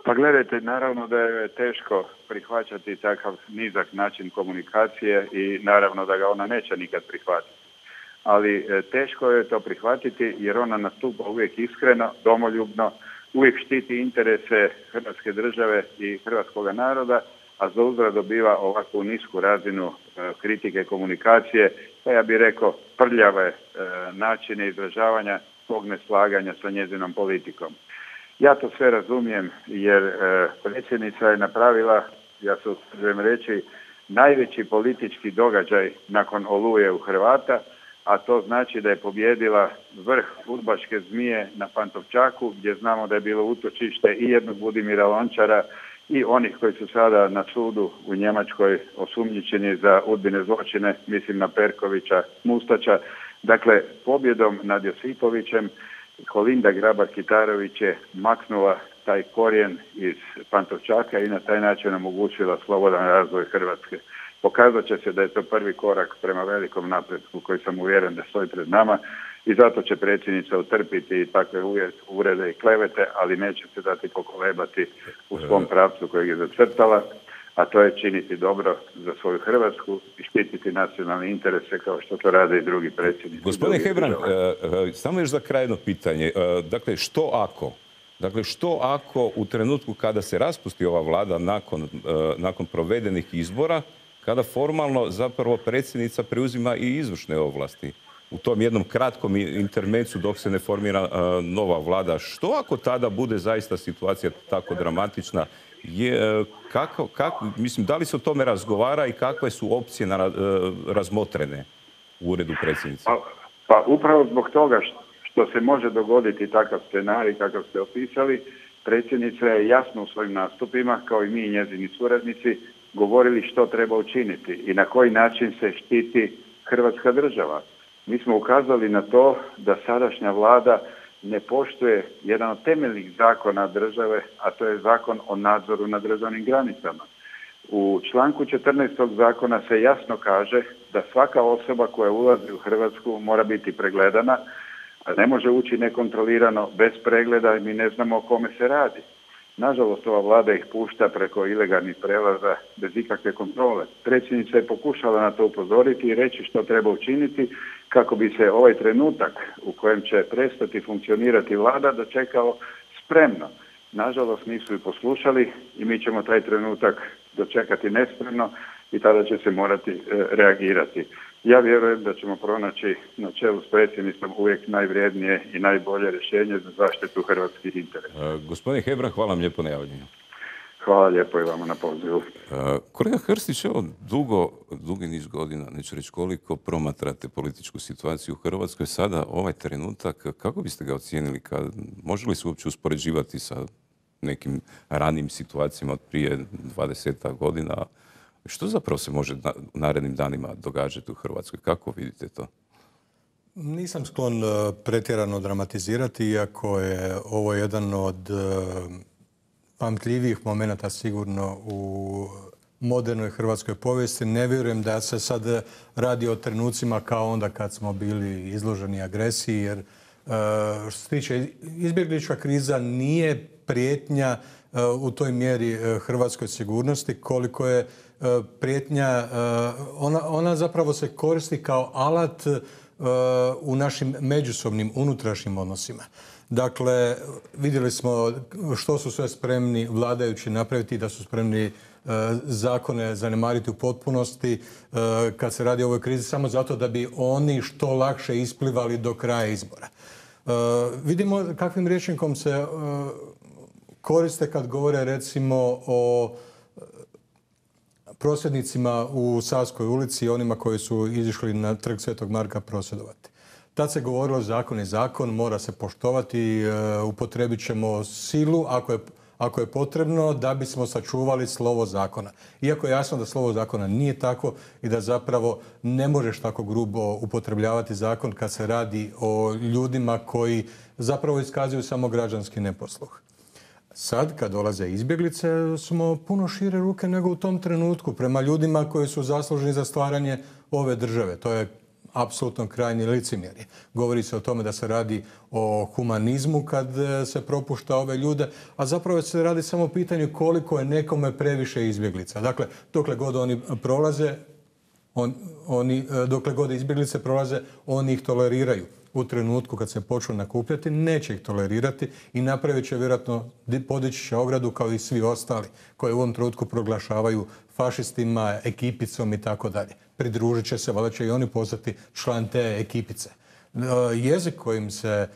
Pa gledajte, naravno da je teško prihvaćati takav nizak način komunikacije i naravno da ga ona neće nikad prihvatiti. Ali teško je to prihvatiti jer ona nastupa uvijek iskreno, domoljubno, uvijek štiti interese Hrvatske države i hrvatskoga naroda, a za uzvrat dobiva ovakvu nisku razinu e, kritike komunikacije, pa ja bih rekao prljave e, načine izražavanja svog neslaganja sa njezinom politikom. Ja to sve razumijem jer e, predsjednica je napravila, ja se usuđujem reći, najveći politički događaj nakon Oluje u Hrvata, a to znači da je pobjedila vrh udbaške zmije na Pantovčaku, gdje znamo da je bilo utočište i jednog Budimira Lončara i onih koji su sada na sudu u Njemačkoj osumnjičeni za udbine zločine, mislim na Perkovića, Mustača. Dakle, pobjedom nad Josipovićem Kolinda Grabar-Kitarović je maknula taj korijen iz Pantovčaka i na taj način omogućila slobodan razvoj Hrvatske. Pokazat će se da je to prvi korak prema velikom napretku koji sam uvjeren da stoji pred nama i zato će predsjednica utrpiti takve uvrede i klevete, ali neće se dati pokolebati u svom pravcu kojeg je zacrtala, a to je činiti dobro za svoju Hrvatsku i štititi nacionalne interese kao što to rade i drugi predsjednici. Gospodine Hebrang, samo još za kraj jedno pitanje. Dakle, što ako? Dakle, što ako u trenutku kada se raspusti ova vlada nakon, nakon provedenih izbora, kada formalno zapravo predsjednica preuzima i izvršne ovlasti u tom jednom kratkom intermecu dok se ne formira uh, nova vlada. Što ako tada bude zaista situacija tako dramatična? Je, uh, kako, kako, mislim, da li se o tome razgovara i kakve su opcije na, uh, razmotrene u uredu predsjednice? Pa, pa upravo zbog toga što se može dogoditi takav scenarij kakav ste opisali, predsjednica je jasno u svojim nastupima, kao i mi i njezini suradnici, govorili što treba učiniti i na koji način se štiti Hrvatska država. Mi smo ukazali na to da sadašnja vlada ne poštuje jedan od temeljnih zakona države, a to je zakon o nadzoru nad državnim granicama. U članku četrnaest zakona se jasno kaže da svaka osoba koja ulazi u Hrvatsku mora biti pregledana, a ne može ući nekontrolirano bez pregleda i mi ne znamo o kome se radi. Nažalost, ova vlada ih pušta preko ilegalnih prelaza bez ikakve kontrole. Predsjednica je pokušala na to upozoriti i reći što treba učiniti kako bi se ovaj trenutak u kojem će prestati funkcionirati vlada dočekao spremno. Nažalost, nisu i poslušali i mi ćemo taj trenutak dočekati nespremno i tada će se morati e, reagirati. Ja vjerujem da ćemo pronaći na čelu s predsjednicom uvijek najvrijednije i najbolje rješenje za zaštitu hrvatskih interesa. E, gospodin Hebrang, hvala vam lijepo na javljanju. Hvala lijepo i vama na pozivu. Kolega Krstić, evo dugo, dugi niz godina, neću reći koliko, promatrate političku situaciju u Hrvatskoj. Sada, ovaj trenutak, kako biste ga ocijenili? Kad, može li se uopće uspoređivati sa nekim ranijim situacijama od prije dvadeset godina? Što zapravo se može u narednim danima događati u Hrvatskoj? Kako vidite to? Nisam sklon pretjerano dramatizirati, iako je ovo jedan od pamtljivijih momenata sigurno u modernoj hrvatskoj povijesti. Ne vjerujem da se sad radi o trenucima kao onda kad smo bili izloženi agresiji, jer što se tiče izbjeglička kriza nije prijetnja u toj mjeri hrvatskoj sigurnosti koliko je prijetnja, ona, ona zapravo se koristi kao alat u našim međusobnim unutrašnjim odnosima. Dakle, vidjeli smo što su sve spremni vladajući napraviti, da su spremni zakone zanemariti u potpunosti kad se radi o ovoj krizi, samo zato da bi oni što lakše isplivali do kraja izbora. Vidimo kakvim rječnikom se koriste kad govore recimo o prosvjednicima u Savskoj ulici i onima koji su izišli na trg Svetog Marka prosvjedovati. Tad se govorilo zakon je zakon, mora se poštovati, upotrebit ćemo silu ako je, ako je potrebno da bismo sačuvali slovo zakona. Iako je jasno da slovo zakona nije tako i da zapravo ne možeš tako grubo upotrebljavati zakon kad se radi o ljudima koji zapravo iskazuju samo građanski neposluh. Sad, kad dolaze izbjeglice, smo puno šire ruke nego u tom trenutku prema ljudima koji su zaslužni za stvaranje ove države. To je apsolutno krajnje licemjerje. Govori se o tome da se radi o humanizmu kad se propušta ove ljude, a zapravo se radi samo o pitanju koliko je nekome previše izbjeglica. Dakle, dokle god oni prolaze, on, oni, dokle god izbjeglice prolaze, oni ih toleriraju. U trenutku kad se počnu nakupljati, neće ih tolerirati i napravit će vjerojatno, podići će ogradu kao i svi ostali koji u ovom trenutku proglašavaju fašistima, ekipicom i tako dalje. Pridružit će se, valjda će i oni postati član te ekipice. Jezik kojim se e,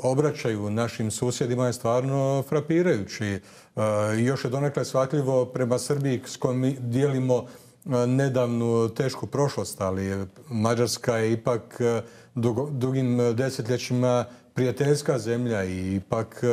obraćaju našim susjedima je stvarno frapirajući. E, još je donekle shvatljivo prema Srbiji s kojom mi dijelimo nedavnu tešku prošlost, ali Mađarska je ipak dugo, dugim desetljećima prijateljska zemlja i ipak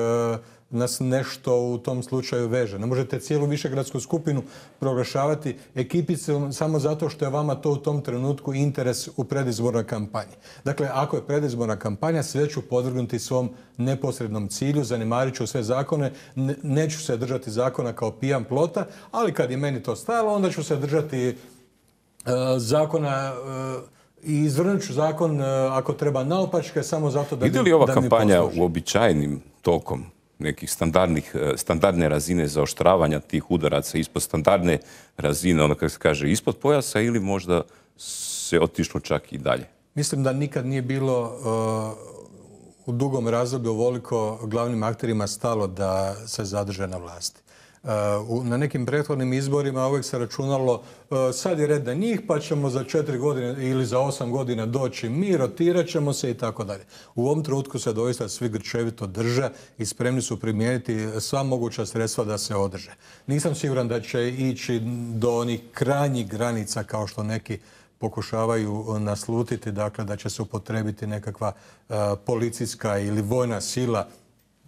nas nešto u tom slučaju veže. Ne možete cijelu višegradsku skupinu proglašavati ekipicom samo zato što je vama to u tom trenutku interes u predizbornoj kampanji. Dakle, ako je predizborna kampanja, sve ću podvrgnuti svom neposrednom cilju, zanemarit ću sve zakone, ne, neću se držati zakona kao pijan plota, ali kad je meni to stajalo, onda ću se držati uh, zakona uh, i izvrnut ću zakon uh, ako treba naopačke, samo zato da, ide li ova da kampanja uobičajenim tokom nekih standardnih, standardne razine zaoštravanja tih udaraca ispod standardne razine, ono kako se kaže, ispod pojasa, ili možda se otišlo čak i dalje? Mislim da nikad nije bilo uh, u dugom razdoblju ovoliko glavnim akterima stalo da se zadrže na vlasti. Uh, na nekim prethodnim izborima uvijek se računalo uh, sad je red na njih pa ćemo za četiri godine ili za osam godina doći mi, rotirat ćemo se i tako dalje. U ovom trenutku se doista svi grčevito drže i spremni su primijeniti sva moguća sredstva da se održe. Nisam siguran da će ići do onih krajnjih granica kao što neki pokušavaju naslutiti, dakle da će se upotrebiti nekakva uh, policijska ili vojna sila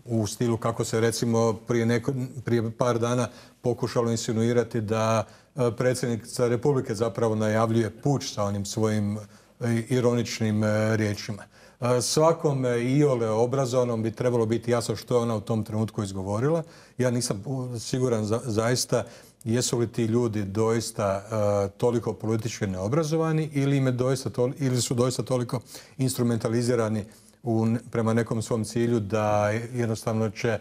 u stilu kako se recimo prije, neko, prije par dana pokušalo insinuirati da predsjednica Republike zapravo najavljuje puč sa onim svojim ironičnim riječima. Svakom iole obrazovanom bi trebalo biti jasno što je ona u tom trenutku izgovorila. Ja nisam siguran za, zaista jesu li ti ljudi doista uh, toliko politički neobrazovani ili, im je doista to, ili su doista toliko instrumentalizirani U, prema nekom svom cilju da jednostavno će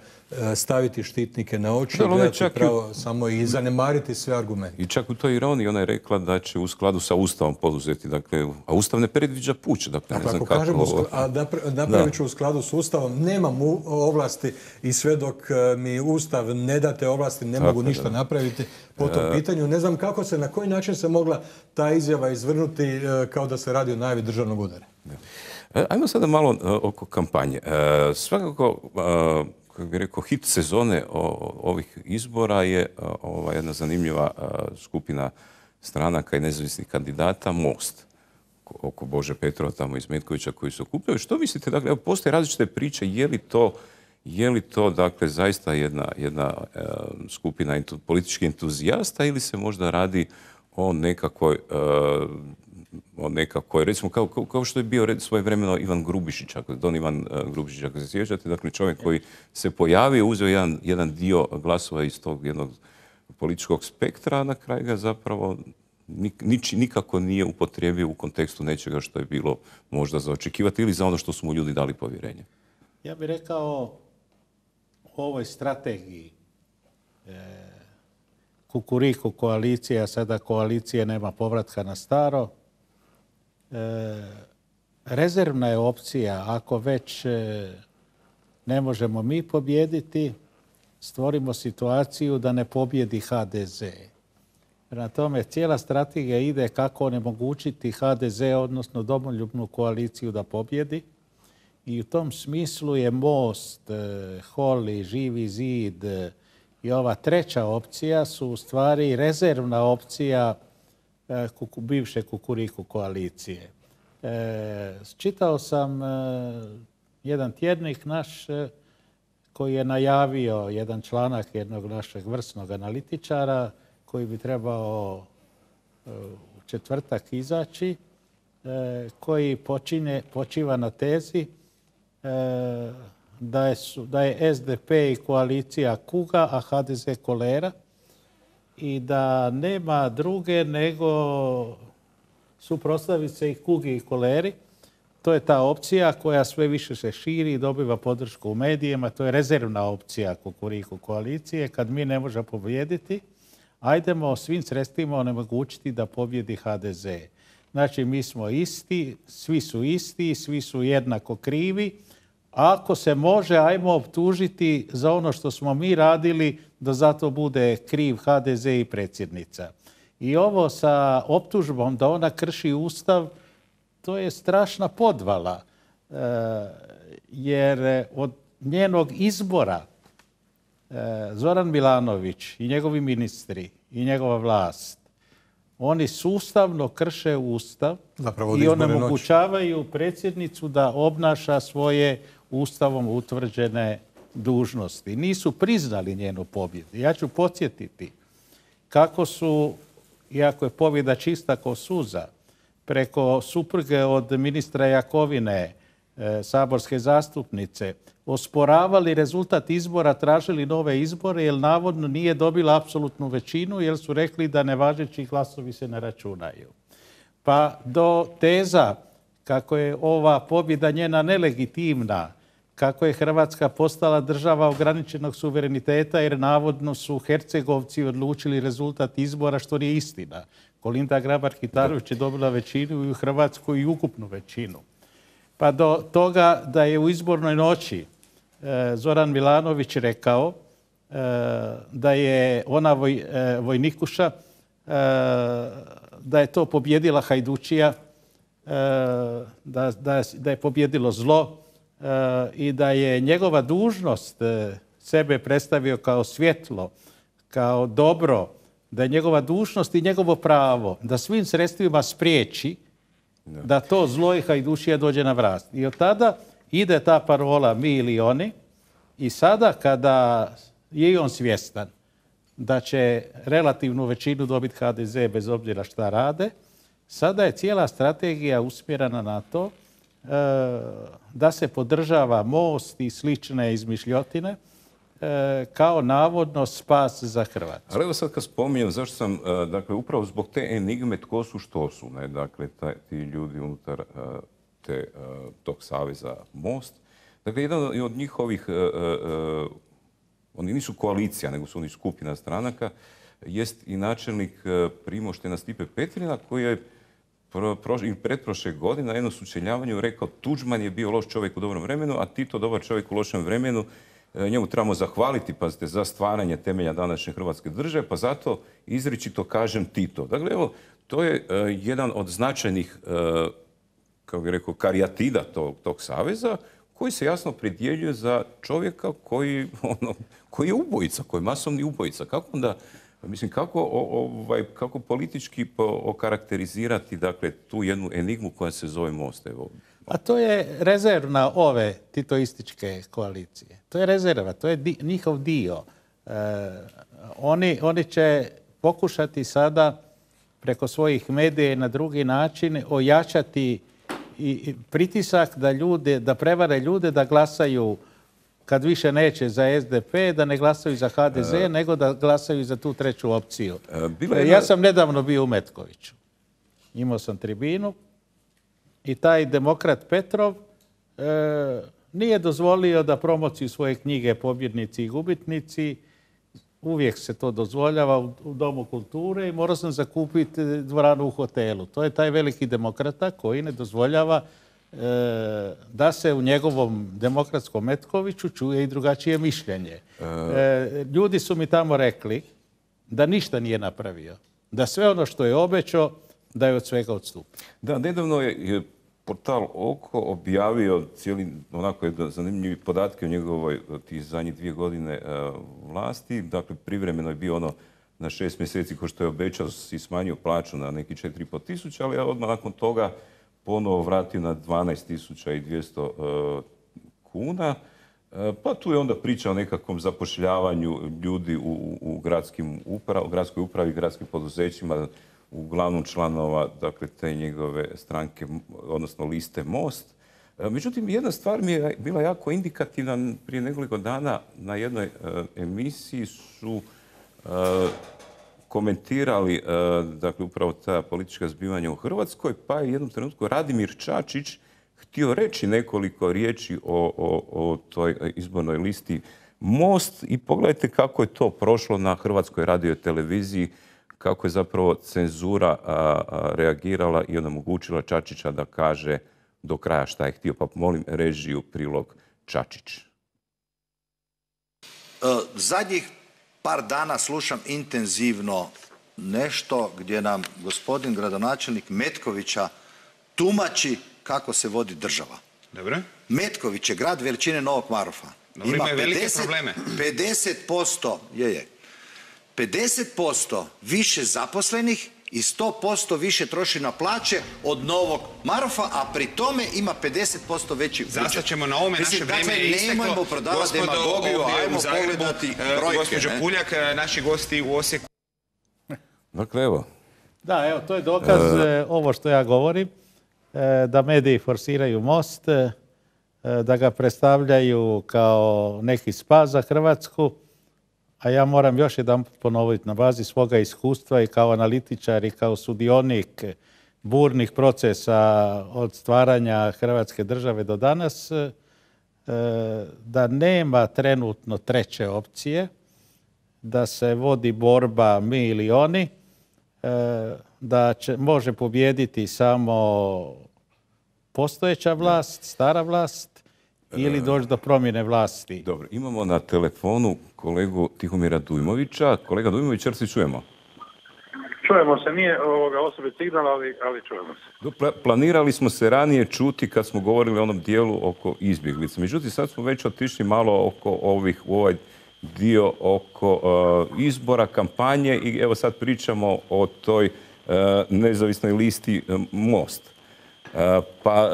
staviti štitnike na oči, gledati pravo samo i zanemariti sve argumente. I čak u toj ironiji ona je rekla da će u skladu sa Ustavom poduzeti, dakle, a Ustav ne predviđa puč. Dakle, ne dakle, znam ako kako kažem, ovo... a napravit ću u skladu s Ustavom, nemam ovlasti i sve dok mi Ustav ne date ovlasti, ne tako mogu ništa da. napraviti po tom e... pitanju. Ne znam kako se, na koji način se mogla ta izjava izvrnuti kao da se radi o najavi državnog udara. Ajmo sada malo uh, oko kampanje. Uh, svakako, uh, kako bih rekao, hit sezone ovih izbora je ova jedna zanimljiva skupina stranaka i nezavisnih kandidata, Most, oko Bože Petrova tamo iz Metkovića koji se okupljaju. Što mislite, dakle, postoje različite priče, je li to, je li to dakle, zaista jedna, jedna e, skupina entu, političkih entuzijasta ili se možda radi o nekakvoj, e, o nekakvoj recimo, kao, kao što je bio svojevremeno Ivan Grubišić, ako, Don Ivan Grubišić, ako se sjećate, dakle, čovjek koji se pojavio, uzeo jedan, jedan dio glasova iz tog jednog političkog spektra, a na kraju ga zapravo Nič, nikako nije upotrijebio u kontekstu nečega što je bilo možda za očekivati ili za ono što su mu ljudi dali povjerenje. Ja bih rekao u ovoj strategiji e, Kukuriku koalicija, sada koalicije nema povratka na staro. E, rezervna je opcija, ako već e, ne možemo mi pobijediti, stvorimo situaciju da ne pobjedi ha de ze. Prema tome, cijela strategija ide kako onemogućiti ha de ze, odnosno domoljubnu koaliciju da pobjedi. I u tom smislu je Most, Holi, Živi zid i ova treća opcija su u stvari rezervna opcija bivše Kukuriku koalicije. Čitao sam jedan tjednik naš koji je najavio jedan članak jednog našeg vrsnog analitičara koji bi trebao u četvrtak izaći, koji počine, počiva na tezi da je, da je es de pe i koalicija kuga, a ha de ze kolera i da nema druge nego suprotstaviti se i kugi i koleri. To je ta opcija koja sve više se širi i dobiva podršku u medijima. To je rezervna opcija Kukuriku koalicije. Kad mi ne možemo pobijediti, ajdemo svim sredstvima onemogućiti da pobjedi ha de ze. Znači, mi smo isti, svi su isti, svi su jednako krivi. Ako se može, ajmo optužiti za ono što smo mi radili, da zato bude kriv ha de ze i predsjednica. I ovo sa optužbom da ona krši Ustav, to je strašna podvala. E, jer od njenog izbora Zoran Milanović i njegovi ministri i njegova vlast, oni sustavno krše Ustav i onemogućavaju predsjednicu da obnaša svoje Ustavom utvrđene dužnosti. Nisu priznali njenu pobjedu. Ja ću podsjetiti kako su, iako je pobjeda čista ko suza, preko supruge od ministra Jakovine, saborske zastupnice, osporavali rezultat izbora, tražili nove izbore jer navodno nije dobila apsolutnu većinu jer su rekli da nevažeći glasovi se ne računaju. Pa do teza kako je ova pobjeda njena nelegitimna, kako je Hrvatska postala država ograničenog suvereniteta jer navodno su Hercegovci odlučili rezultat izbora, što nije istina. Kolinda Grabar-Kitarović je dobila većinu i u Hrvatskoj i ukupnu većinu. Pa do toga da je u izbornoj noći Zoran Milanović rekao da je ona voj, vojnikuša, da je to pobjedila Hajdučija, da, da, da je pobjedilo zlo i da je njegova dužnost sebe predstavio kao svjetlo, kao dobro, da je njegova dužnost i njegovo pravo da svim sredstvima spriječi da to zlo i Hajdučija dođe na vlast. I od tada ide ta parola mi ili oni i sada kada je i on svjestan da će relativnu većinu dobiti ha de ze bez obzira šta rade, sada je cijela strategija usmjerena na to e, da se podržava Most i slične izmišljotine e, kao navodno spas za Hrvatsku. Ali evo sad kad spominjem, zašto sam, e, dakle, upravo zbog te enigme tko su što su, ne? Dakle, taj, ti ljudi unutar e, te, e, tog saveza Most. Dakle, jedan od njihovih, e, e, oni nisu koalicija, nego su oni skupina stranaka, jest i načelnik Primoštena Stipe Petrina, koji je i pretprošle godine na jednom sučeljavanju rekao Tuđman je bio loš čovjek u dobrom vremenu, a Tito dobar čovjek u lošem vremenu. Njemu trebamo zahvaliti, pazite, za stvaranje temelja današnje Hrvatske države, pa zato izričito kažem Tito. Dakle, evo, to je jedan od značajnih, kako bih rekao, karijatida tog, tog saveza, koji se jasno pridjeljuje za čovjeka koji, ono, koji je ubojica, koji je masovni ubojica. Kako onda, mislim, kako, ovaj, kako politički okarakterizirati, dakle, tu jednu enigmu koja se zove Most? Evo. A to je rezervna ove titoističke koalicije. To je rezerva, to je di, njihov dio. E, oni, oni će pokušati sada preko svojih medija i na drugi način ojačati i pritisak da ljude, da prevare ljude da glasaju kad više neće za S D P, da ne glasaju za H D Z, e, nego da glasaju za tu treću opciju. E, bila je... Ja sam nedavno bio u Metkoviću. Imao sam tribinu i taj demokrat Petrov e, nije dozvolio da promociju svoje knjige Pobjednici i gubitnici, uvijek se to dozvoljava u, u Domu kulture i morao sam zakupiti dvoranu u hotelu. To je taj veliki demokrata koji ne dozvoljava e, da se u njegovom demokratskom Metkoviću čuje i drugačije mišljenje. E, ljudi su mi tamo rekli da ništa nije napravio. Da sve ono što je obećao, da je od svega odstupio. Da, nedavno je, je portal Oko objavio cijeli, onako je zanimljivi podatke o njegovoj tih zadnjih dvije godine uh, vlasti. Dakle, privremeno je bio ono na šest mjeseci, ko što je obećao, si smanjio plaću na neki četiri i pol tisuća, ali odmah nakon toga ponovo vratio na dvanaest tisuća i dvjesto uh, kuna. Uh, pa tu je onda priča o nekakvom zapošljavanju ljudi u, u gradskim uprav, u gradskoj upravi, gradskim poduzećima, uglavnom članova, dakle, te njegove stranke, odnosno liste Most. Međutim, jedna stvar mi je bila jako indikativna. Prije nekoliko dana na jednoj uh, emisiji su uh, komentirali uh, dakle, upravo ta politička zbivanja u Hrvatskoj, pa je u jednom trenutku Radimir Čačić htio reći nekoliko riječi o, o, o toj izbornoj listi Most i pogledajte kako je to prošlo na Hrvatskoj radioteleviziji, kako je zapravo cenzura a, a, reagirala i onemogućila Čačića da kaže do kraja šta je htio. Pa molim režiju prilog Čačić. E, zadnjih par dana slušam intenzivno nešto gdje nam gospodin gradonačelnik Metkovića tumači kako se vodi država. Dobro. Metković je grad veličine Novog Marofa. Dobro, ima velike probleme. pedeset posto je je. pedeset posto više zaposlenih i sto posto više troši na plaće od Novog Marofa, a pri tome ima pedeset posto veći budžet. Zastat ćemo na ovome, naše vrijeme je isteklo. Nemojmo prodavati demagogiju, ajmo pogledati brojke. Gospođo Puljak, naši gosti u Osijeku. Dakle, evo. Da, evo, to je dokaz e, ovo što ja govorim, e, da mediji forsiraju Most, e, da ga predstavljaju kao neki spas za Hrvatsku. A ja moram još jedan ponoviti na bazi svoga iskustva i kao analitičar i kao sudionik burnih procesa od stvaranja Hrvatske države do danas, da nema trenutno treće opcije, da se vodi borba mi ili oni, da će, može pobijediti samo postojeća vlast, stara vlast, ili doći do promjene vlasti. Dobro, imamo na telefonu kolegu Tihomira Dujmovića. Kolega Dujmović, jer se čujemo? Čujemo se, nije ovoga osobit signal, ali, ali čujemo se. Planirali smo se ranije čuti kad smo govorili o onom dijelu oko izbjeglica. Međutim, sad smo već otišli malo oko ovih, u ovaj dio oko uh, izbora, kampanje i evo sad pričamo o toj uh, nezavisnoj listi uh, Most. Pa,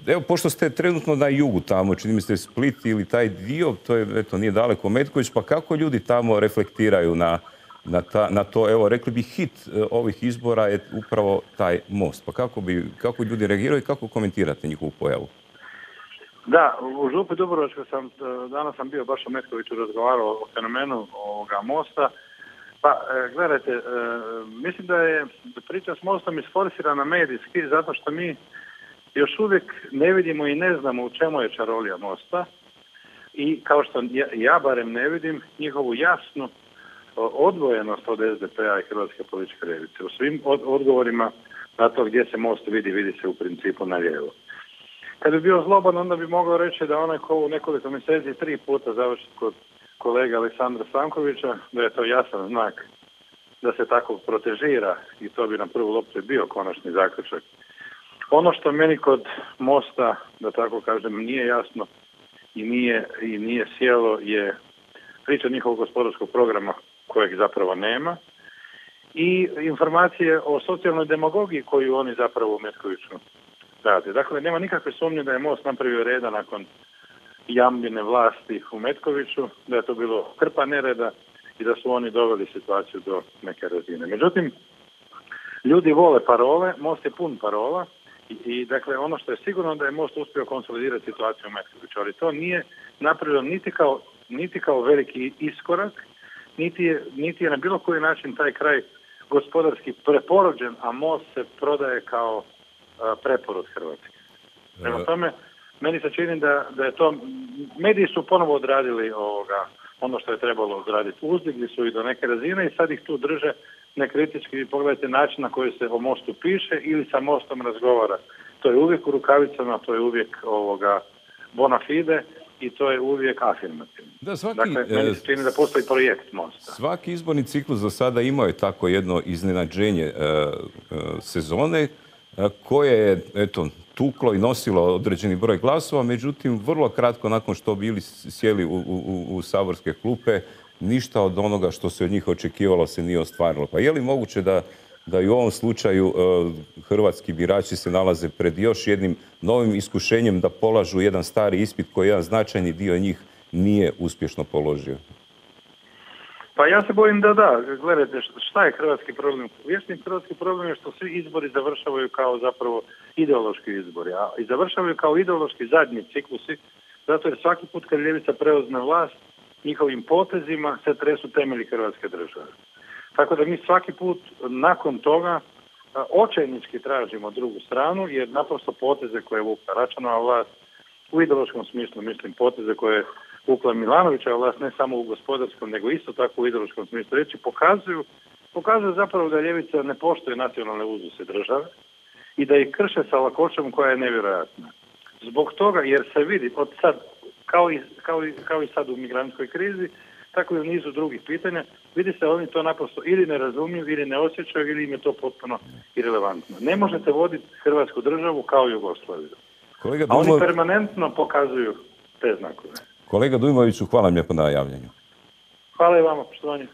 evo, pošto ste trenutno na jugu tamo, čini mi se Split ili taj dio, to je, eto, nije daleko Metković, pa kako ljudi tamo reflektiraju na, na, ta, na to, evo, rekli bi hit ovih izbora je upravo taj Most. Pa kako, bi, kako ljudi reagiraju i kako komentirate njihovu pojavu? Da, u Župi Dubrovačkoj sam, danas sam bio baš u Metkoviću, razgovarao o fenomenu ovoga Mosta. Pa, gledajte, mislim da je priča s Mostom isforsirana medijski zato što mi još uvijek ne vidimo i ne znamo u čemu je čarolija Mosta i kao što ja, ja barem ne vidim njihovu jasnu odvojenost od S D P-a i Hrvatske političke ljevice. U svim od, odgovorima na to gdje se Most vidi, vidi se u principu na lijevo. Kad bi bio zloban, onda bi mogao reći da onaj ko u nekoliko mjeseci tri puta završi kod kolega Aleksandra Stankovića, da je to jasan znak da se tako protežira i to bi na prvu loptu bio konačni zaključak. Ono što meni kod Mosta, da tako kažem, nije jasno, i nije, i nije sjelo je priča njihovog gospodarskog programa kojeg zapravo nema i informacije o socijalnoj demagogiji koju oni zapravo u Metkoviću rade. Dakle, nema nikakve sumnje da je Most napravio reda nakon Jambine vlasti u Metkoviću, da je to bilo krpa nereda i da su oni doveli situaciju do neke razine. Međutim, ljudi vole parole, Most je pun parola i, i dakle ono što je sigurno da je Most uspio konsolidirati situaciju u Metkoviću, ali to nije napravio niti kao, niti kao veliki iskorak, niti je, niti je na bilo koji način taj kraj gospodarski preporođen, a Most se prodaje kao a, preporod Hrvatske. Prema tome, meni se čini da, da je to, mediji su ponovo odradili ovoga, ono što je trebalo odraditi. Uzdigli su ih do neke razine i sad ih tu drže nekritički. Vi pogledajte način na koji se o Mostu piše ili sa Mostom razgovara. To je uvijek u rukavicama, to je uvijek ovoga bona fide i to je uvijek afirmativno. Da, svaki, dakle, meni se čini da postoji projekt Mosta. Svaki izborni ciklus za sada imao je tako jedno iznenađenje e, e, sezone e, koje je, eto, tuklo i nosilo određeni broj glasova, međutim, vrlo kratko nakon što bili sjeli u, u, u saborske klupe, ništa od onoga što se od njih očekivalo se nije ostvarilo. Pa je li moguće da, da i u ovom slučaju e, hrvatski birači se nalaze pred još jednim novim iskušenjem da polažu jedan stari ispit koji jedan značajni dio njih nije uspješno položio? Pa ja se bojim da da. Gledajte, šta je hrvatski problem? Vječni hrvatski problem je što svi izbori završavaju kao zapravo ideološki izbori. A i završavaju kao ideološki zadnji ciklusi, zato jer svaki put kad ljevica preuzme vlast, njihovim potezima se tresu temelji hrvatske države. Tako da mi svaki put nakon toga očajnički tražimo drugu stranu, jer naprosto poteze koje je vukla Račanova vlast, u ideološkom smislu mislim poteze koje je vukla Milanovićeva vlast, ne samo u gospodarskom, nego isto tako u ideološkom smislu reći, pokazuju, pokazuju zapravo da ljevica ne poštuje nacionalne uzuse države i da ih krše sa lakoćom koja je nevjerojatna. Zbog toga, jer se vidi od sad, kao i, kao i, kao i sad u migrantskoj krizi, tako i u nizu drugih pitanja, vidi se oni to naprosto ili ne razumiju, ili ne osjećaju, ili im je to potpuno irelevantno. Ne možete voditi Hrvatsku državu kao Jugoslaviju. Kolega A oni Dujmo... permanentno pokazuju te znakove. Kolega Dujmoviću, hvala vam lijepo na javljanju. Hvala i vama, poštovanje.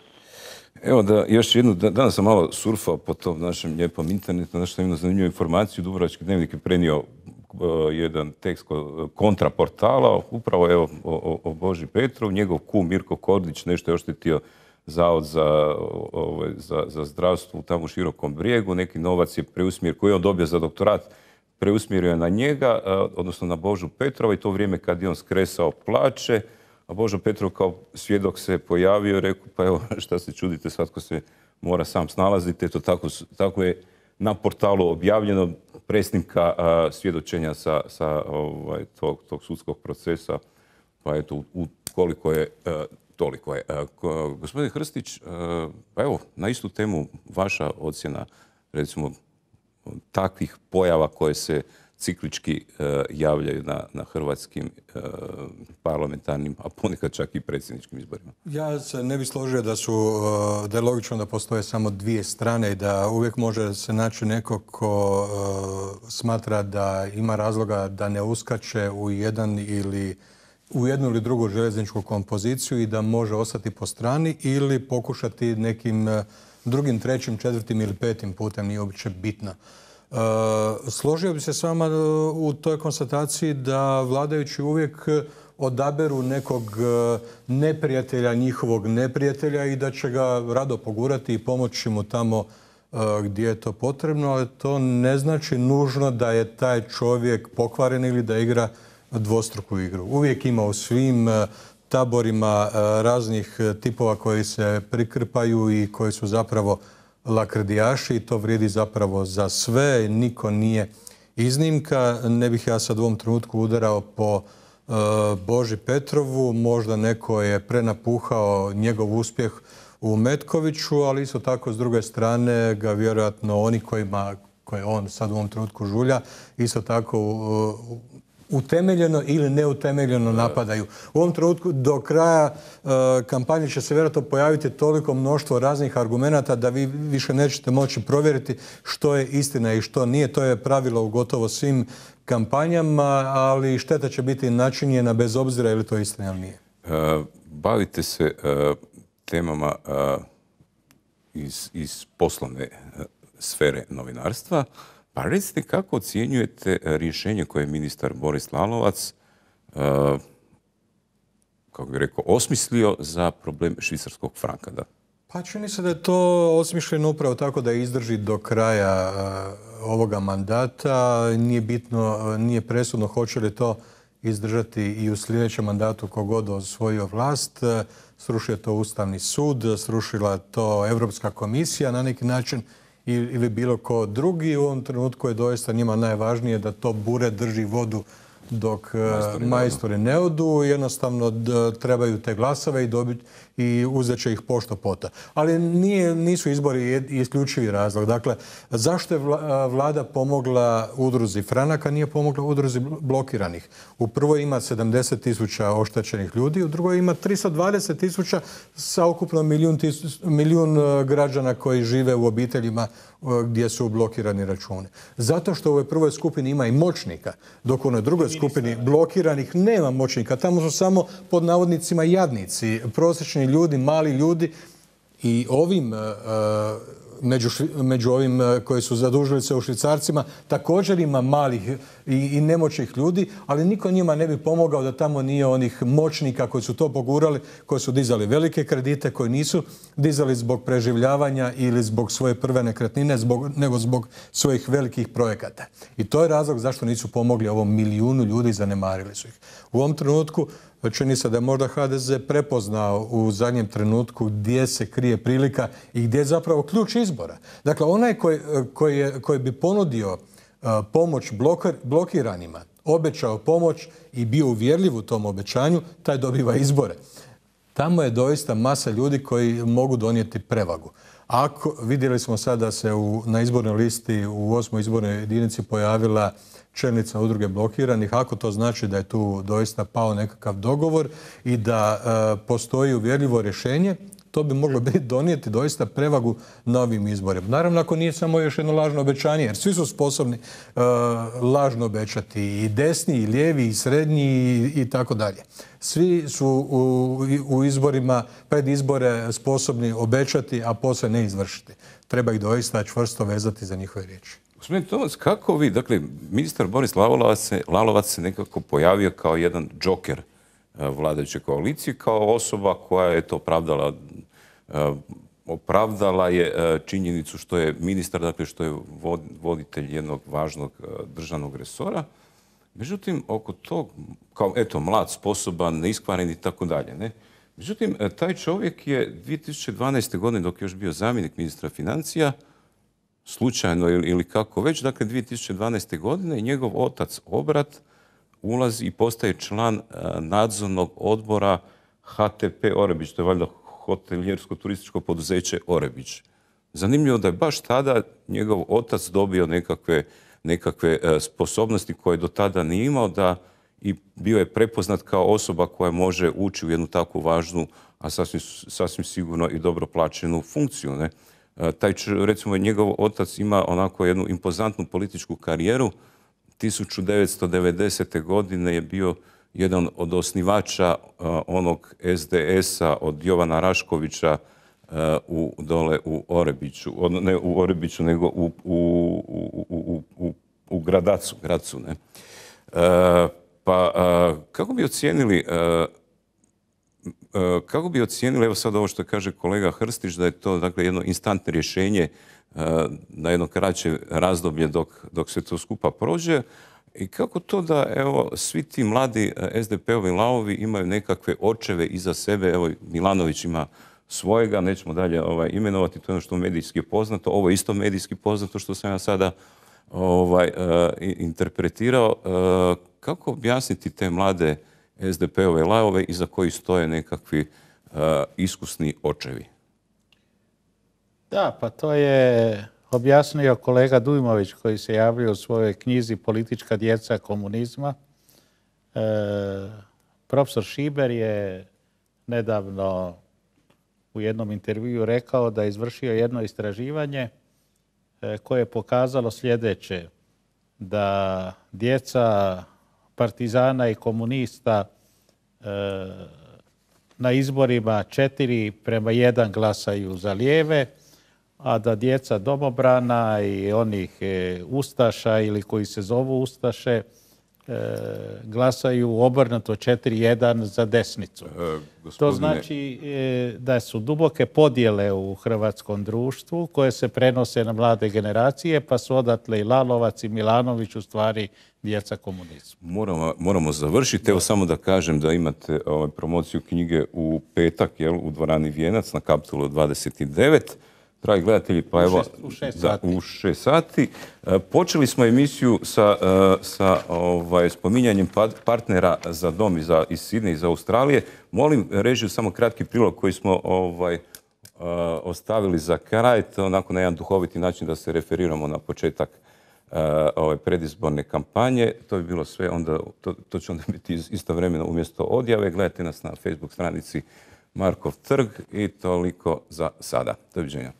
Evo da još jednu, danas sam malo surfao po tom našem lijepom internetu, znaš što imam zanimljivu informaciju. Dubrovački dnevnik je prenio uh, jedan tekst kontraportala, upravo evo o, o Boži Petrov, njegov kum Mirko Kordić nešto je oštetio Zavod za, ovaj, za, za zdravstvo tamo u Širokom Brijegu, neki novac je preusmjer koji je on dobio za doktorat, preusmjerio je na njega, uh, odnosno na Božu Petrova i to vrijeme kad je on skresao plaće. A Božo Petrov kao svjedok se pojavio i rekao, pa evo šta se čudite, svatko se mora sam snalaziti. Eto tako, tako je na portalu objavljeno presnimka a, svjedočenja sa, sa ovaj, tog, tog sudskog procesa. Pa eto, u, koliko je, a, toliko je. A, ko, gospodin Hrstić, a, pa evo, na istu temu vaša ocjena, recimo, takvih pojava koje se ciklički uh, javljaju na, na hrvatskim uh, parlamentarnim, a ponekad čak i predsjedničkim izborima. Ja se ne bih složio da su, uh, da je logično da postoje samo dvije strane i da uvijek može se naći neko ko uh, smatra da ima razloga da ne uskače u jedan ili u jednu ili drugu željezničku kompoziciju i da može ostati po strani ili pokušati nekim uh, drugim, trećim, četvrtim ili petim putem, nije uopće bitno. Uh, složio bi se s vama u toj konstataciji da vladajući uvijek odaberu nekog neprijatelja, njihovog neprijatelja i da će ga rado pogurati i pomoći mu tamo uh, gdje je to potrebno, ali to ne znači nužno da je taj čovjek pokvaren ili da igra dvostruku igru. Uvijek ima u svim uh, taborima uh, raznih tipova koji se prikrpaju i koji su zapravo lakrdijaši i to vrijedi zapravo za sve, niko nije iznimka. Ne bih ja sad u ovom trenutku udarao po uh, Boži Petrovu, možda neko je prenapuhao njegov uspjeh u Metkoviću, ali isto tako s druge strane ga vjerojatno oni kojima, koje on sad u ovom trenutku žulja, isto tako uh, utemeljeno ili neutemeljeno napadaju. U ovom trenutku do kraja uh, kampanje će se vjerojatno pojaviti toliko mnoštvo raznih argumenata da vi više nećete moći provjeriti što je istina i što nije. To je pravilo u gotovo svim kampanjama, ali šteta će biti načinjena bez obzira je li to istina ili nije. Uh, bavite se uh, temama uh, iz, iz poslovne uh, sfere novinarstva. Pa recite kako ocjenjujete rješenje koje je ministar Boris Lalovac, uh, kako bih rekao, osmislio za problem švicarskog franka? Da? Pa čini se da je to osmišljeno upravo tako da izdrži do kraja uh, ovoga mandata. Nije bitno, uh, nije presudno hoće li to izdržati i u sljedećem mandatu kogod osvojio vlast. Uh, srušio to Ustavni sud, srušila to Europska komisija na neki način ili bilo ko drugi. U ovom trenutku je doista njima najvažnije da to bure drži vodu dok majstori, majstori ne odu. Jednostavno trebaju te glasove i, dobiti, i uzet će ih pošto poto. Ali nije, nisu izbori isključivi razlog. Dakle, zašto je vlada pomogla udruzi Franak, a nije pomogla udruzi blokiranih? U prvoj ima sedamdeset tisuća oštećenih ljudi, u drugoj ima tristo dvadeset tisuća sa ukupno milijun, milijun građana koji žive u obiteljima gdje su blokirani računi. Zato što u ovoj prvoj skupini ima i moćnika, dok u onoj drugoj skupini blokiranih nema moćnika. Tamo su samo pod navodnicima jadnici, prosječni ljudi, mali ljudi i ovim uh, među, među ovim koji su zadužili se u švicarcima također ima malih i, i nemoćnih ljudi, ali niko njima ne bi pomogao da tamo nije onih moćnika koji su to pogurali, koji su dizali velike kredite, koji nisu dizali zbog preživljavanja ili zbog svoje prve nekretnine, zbog, nego zbog svojih velikih projekata. I to je razlog zašto nisu pomogli ovom milijunu ljudi i zanemarili su ih. U ovom trenutku čini se da je možda ha de ze prepoznao u zadnjem trenutku gdje se krije prilika i gdje je zapravo ključ izbora. Dakle, onaj koji, koji, je, koji bi ponudio uh, pomoć blokir, blokiranima, obećao pomoć i bio uvjerljiv u tom obećanju, taj dobiva izbore. Tamo je doista masa ljudi koji mogu donijeti prevagu. Ako, vidjeli smo sad da se u, na izbornoj listi u osmoj izbornoj jedinici pojavila čelnica udruge blokiranih, ako to znači da je tu doista pao nekakav dogovor i da e, postoji uvjerljivo rješenje, to bi moglo biti donijeti doista prevagu na ovim izborima. Naravno, ako nije samo još jedno lažno obećanje, jer svi su sposobni e, lažno obećati, i desni, i lijevi, i srednji, i, i tako dalje. Svi su u, u izborima, pred izbore sposobni obećati, a poslije ne izvršiti. Treba ih doista čvrsto vezati za njihove riječi. Gospodin Tomac, kako vi, dakle, ministar Boris Lalovac se, Lalovac se nekako pojavio kao jedan džoker vladajuće koalicije, kao osoba koja je to opravdala, opravdala je činjenicu što je ministar, dakle što je voditelj jednog važnog državnog resora. Međutim, oko tog, kao eto, mlad, sposoban, neiskvaren i tako dalje, ne? Međutim, taj čovjek je dvije tisuće dvanaeste. godine, dok je još bio zamjenik ministra financija, slučajno ili, ili kako već, dakle dvije tisuće dvanaeste. godine njegov otac Obrat ulazi i postaje član nadzornog odbora ha te pe Orebić, to je valjda hotelijersko-turističko poduzeće Orebić. Zanimljivo da je baš tada njegov otac dobio nekakve, nekakve sposobnosti koje do tada nije imao, da i bio je prepoznat kao osoba koja može ući u jednu takvu važnu, a sasvim, sasvim sigurno i dobro plaćenu funkciju, ne? Taj, recimo, njegov otac ima onako jednu impozantnu političku karijeru. tisuću devetsto devedesete. godine je bio jedan od osnivača uh, onog es de esa od Jovana Raškovića uh, u, dole u Orebiću. Od, ne u Orebiću, nego u, u, u, u, u, u Gradacu. Gracu, ne? Uh, pa uh, kako bi ocijenili uh, Kako bi ocijenili, evo sad ovo što kaže kolega Hrstić, da je to dakle jedno instantno rješenje na jedno kraće razdoblje dok, dok se to skupa prođe, i kako to da evo svi ti mladi es de pe-ovi lavovi imaju nekakve očeve iza sebe, evo Milanović ima svojega, nećemo dalje ovaj, imenovati, to je ono što medijski je poznato, ovo je isto medijski poznato što sam ja sada ovaj, uh, interpretirao. Uh, kako objasniti te mlade es de pe-ove lavove iza koji stoje nekakvi uh, iskusni očevi? Da, pa to je objasnio kolega Dujmović koji se javio u svojoj knjizi Politička djeca komunizma. profesor Šiber je nedavno u jednom intervjuu rekao da je izvršio jedno istraživanje koje je pokazalo sljedeće, da djeca partizana i komunista na izborima četiri prema jedan glasaju za lijeve, a da djeca domobrana i onih ustaša ili koji se zovu ustaše glasaju obrnuto četiri jedan za desnicu. E, To znači da su duboke podjele u hrvatskom društvu koje se prenose na mlade generacije, pa su odatle i Lalovac i Milanović u stvari djeca komunizma. Moramo, moramo završiti. Evo samo da kažem da imate ovaj, promociju knjige u petak, jel, u dvorani Vijenac na Kapitolu dvadeset devet. Dragi gledatelji, pa evo, u šest da, sati. u šest sati. E, počeli smo emisiju sa, e, sa ovaj, spominjanjem partnera za dom iz, iz Sidneja, iz Australije. Molim režiju samo kratki prilog koji smo ovaj, uh, ostavili za kraj, to onako na jedan duhoviti način da se referiramo na početak uh, ove predizborne kampanje. To bi bilo sve, onda, to, to će onda biti istovremeno umjesto odjave. Gledajte nas na Facebook stranici Markov trg i toliko za sada. Doviđenja.